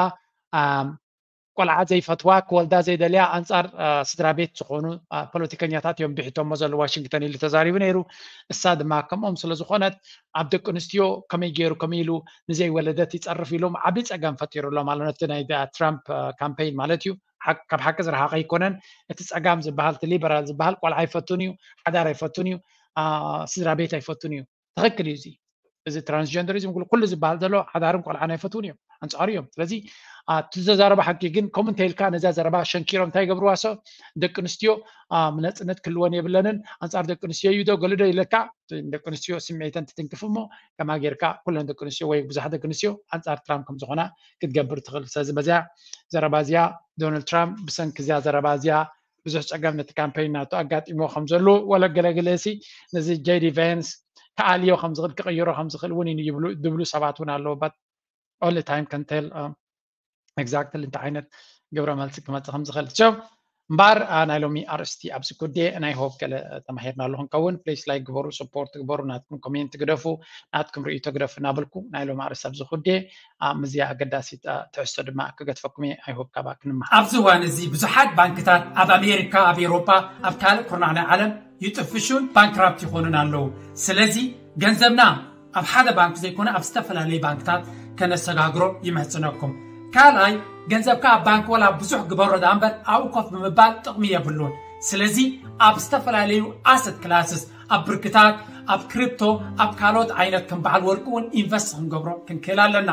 ቆልዓ ዘይፈትዋ ክወልዳ ዘይደልያ ኣንፃር ስድራ ቤት ዝኾኑ ፖለቲከኛታት እዮም ብሒቶሞ ዘሎ ዋሽንግተን ኢሉ ተዛሪቡ ነይሩ። እሳ ድማ ከምኦም ስለ ዝኾነት ኣብ ደቂ ኣንስትዮ ከመይ ገይሩ ከመይ ኢሉ ንዘይወለደት ይፀርፍ ኢሎም ዓብዪ ፀገም ፈጢሩሎም ኣሎ ነቲ ናይ ትራምፕ ካምፔይን ማለት እዩ። ካብ ሓቂ ዝረሓቐ ኣይኮነን። እቲ ፀጋም ዝበሃል እቲ ሊበራል ዝበሃል ቆልዓ ኣይፈቱን እዩ፣ ሓዳር ኣይፈቱን እዩ፣ ስድራ ቤት ኣይፈቱን እዩ። ትኽክል እዩ። እዚ እዚ ትራንስጀንደሪዝም ኩሉ ዝበሃል ዘሎ ሓዳርን ቆልዓን ኣይፈትውን እዮም፣ ኣንፃሩ እዮም። ስለዚ እቲ ዘዛረባ ሓቂ ግን ከምኡ እንተ ኢልካ ነዛ ዘረባ ሸንኪሮም እንታይ ይገብርዋ? ሰ ደቂ ኣንስትዮ ነፅነት ክህልወን የብለንን፣ ኣንፃር ደቂ ኣንስትዮ እዩ ዶ ገሉ ዶ ኢለካ ደቂ ኣንስትዮ ስምዒተን ትትንክፍ እሞ ከማ ጌርካ ኩለን ደቂ ኣንስትዮ ወይ ብዙሓት ደቂ ኣንስትዮ ኣንፃር ትራምፕ ከም ዝኾና ክትገብር ትኽእል። ስለዚ በዚያ ዘረባ እዚኣ ዶናልድ ትራምፕ ብሰንኪ እዚኣ ዘረባ እዚኣ ብዙሕ ፀገም ነቲ ካምፔይን ናቱ ኣጋጢሞ ከም ዘሎ ወለ ገለገለ ሲ ነዚ ጄዲ ቫንስ ክኣልዮ ከም ዝኽእል ክቕይሮ ከም ዝኽእል እውን ይብሉ ዝብሉ ሰባት እውን ኣለዉ። But only time can tell exactly እንታይ ዓይነት ግብረ መልሲ ክመፅእ ከም ዝኽእል ቸው እምበር ናይ ሎሚ ኣርእስቲ ኣብዚ ጉዴ ናይ ሆፕ ገለ ተማሂርናሉ ክንከውን ፕሊስ ላይክ ግበሩ፣ ሰፖርት ግበሩ፣ ናትኩም ኮሜንት ግደፉ፣ ናትኩም ርእይቶ ግደፉ እናበልኩ ናይ ሎሚ ኣርእስቲ ኣብዚ ጉዴ ምዝያ ኣገዳሲት ትሕዝቶ ድማ ክገድፈኩም እየ። I hope ካባኣ ክንመሃር። ኣብዚ እዋን እዚ ብዙሓት ባንክታት ኣብ ኣሜሪካ፣ ኣብ ኤውሮጳ፣ ኣብ ካልእ ኩርናዕ ናይ ዓለም ይጥፍሹን ባንክራፕት ይኾኑን ኣለዉ። ስለዚ ገንዘብና ኣብ ሓደ ባንክ ዘይኮነ ኣብ ዝተፈላለዩ ባንክታት ከነሰጋግሮ ይምሕጽነኩም። ካልኣይ ገንዘብካ ኣብ ባንክ ወላ ብዙሕ ግበሮ ደኣ እምበር ኣብኡ ኮፍ ብምባል ጥቕሚ የብሉን። ስለዚ ኣብ ዝተፈላለዩ ኣሰት ክላስስ ኣብ ብርክታት ኣብ ክሪፕቶ ኣብ ካልኦት ዓይነት ከም በዓል ወርቂ እውን ኢንቨስት ክንገብሮ ክንክእል ኣለና።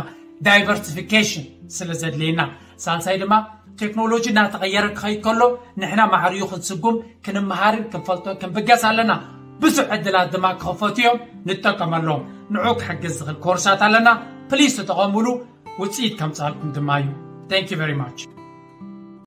ዳይቨርሲፊኬሽን ስለ ዘድልየና። ሳልሳይ ድማ ቴክኖሎጂ እናተቐየረ ክኸይድ ከሎ ንሕና ማዕርዩ ክንስጉም ክንመሃርን ክንፈልጦን ክንብገስ ኣለና። ብዙሕ ዕድላት ድማ ክኸፈቱ እዮም፣ ንጠቀመሎም። ንዑ ክሕግዝ ዝኽእል ኮርሳት ኣለና። ፕሊስ ተጠቐሙሉ፣ ውፅኢት ከምፅኣልኩም ድማ እዩ። Thank you very much።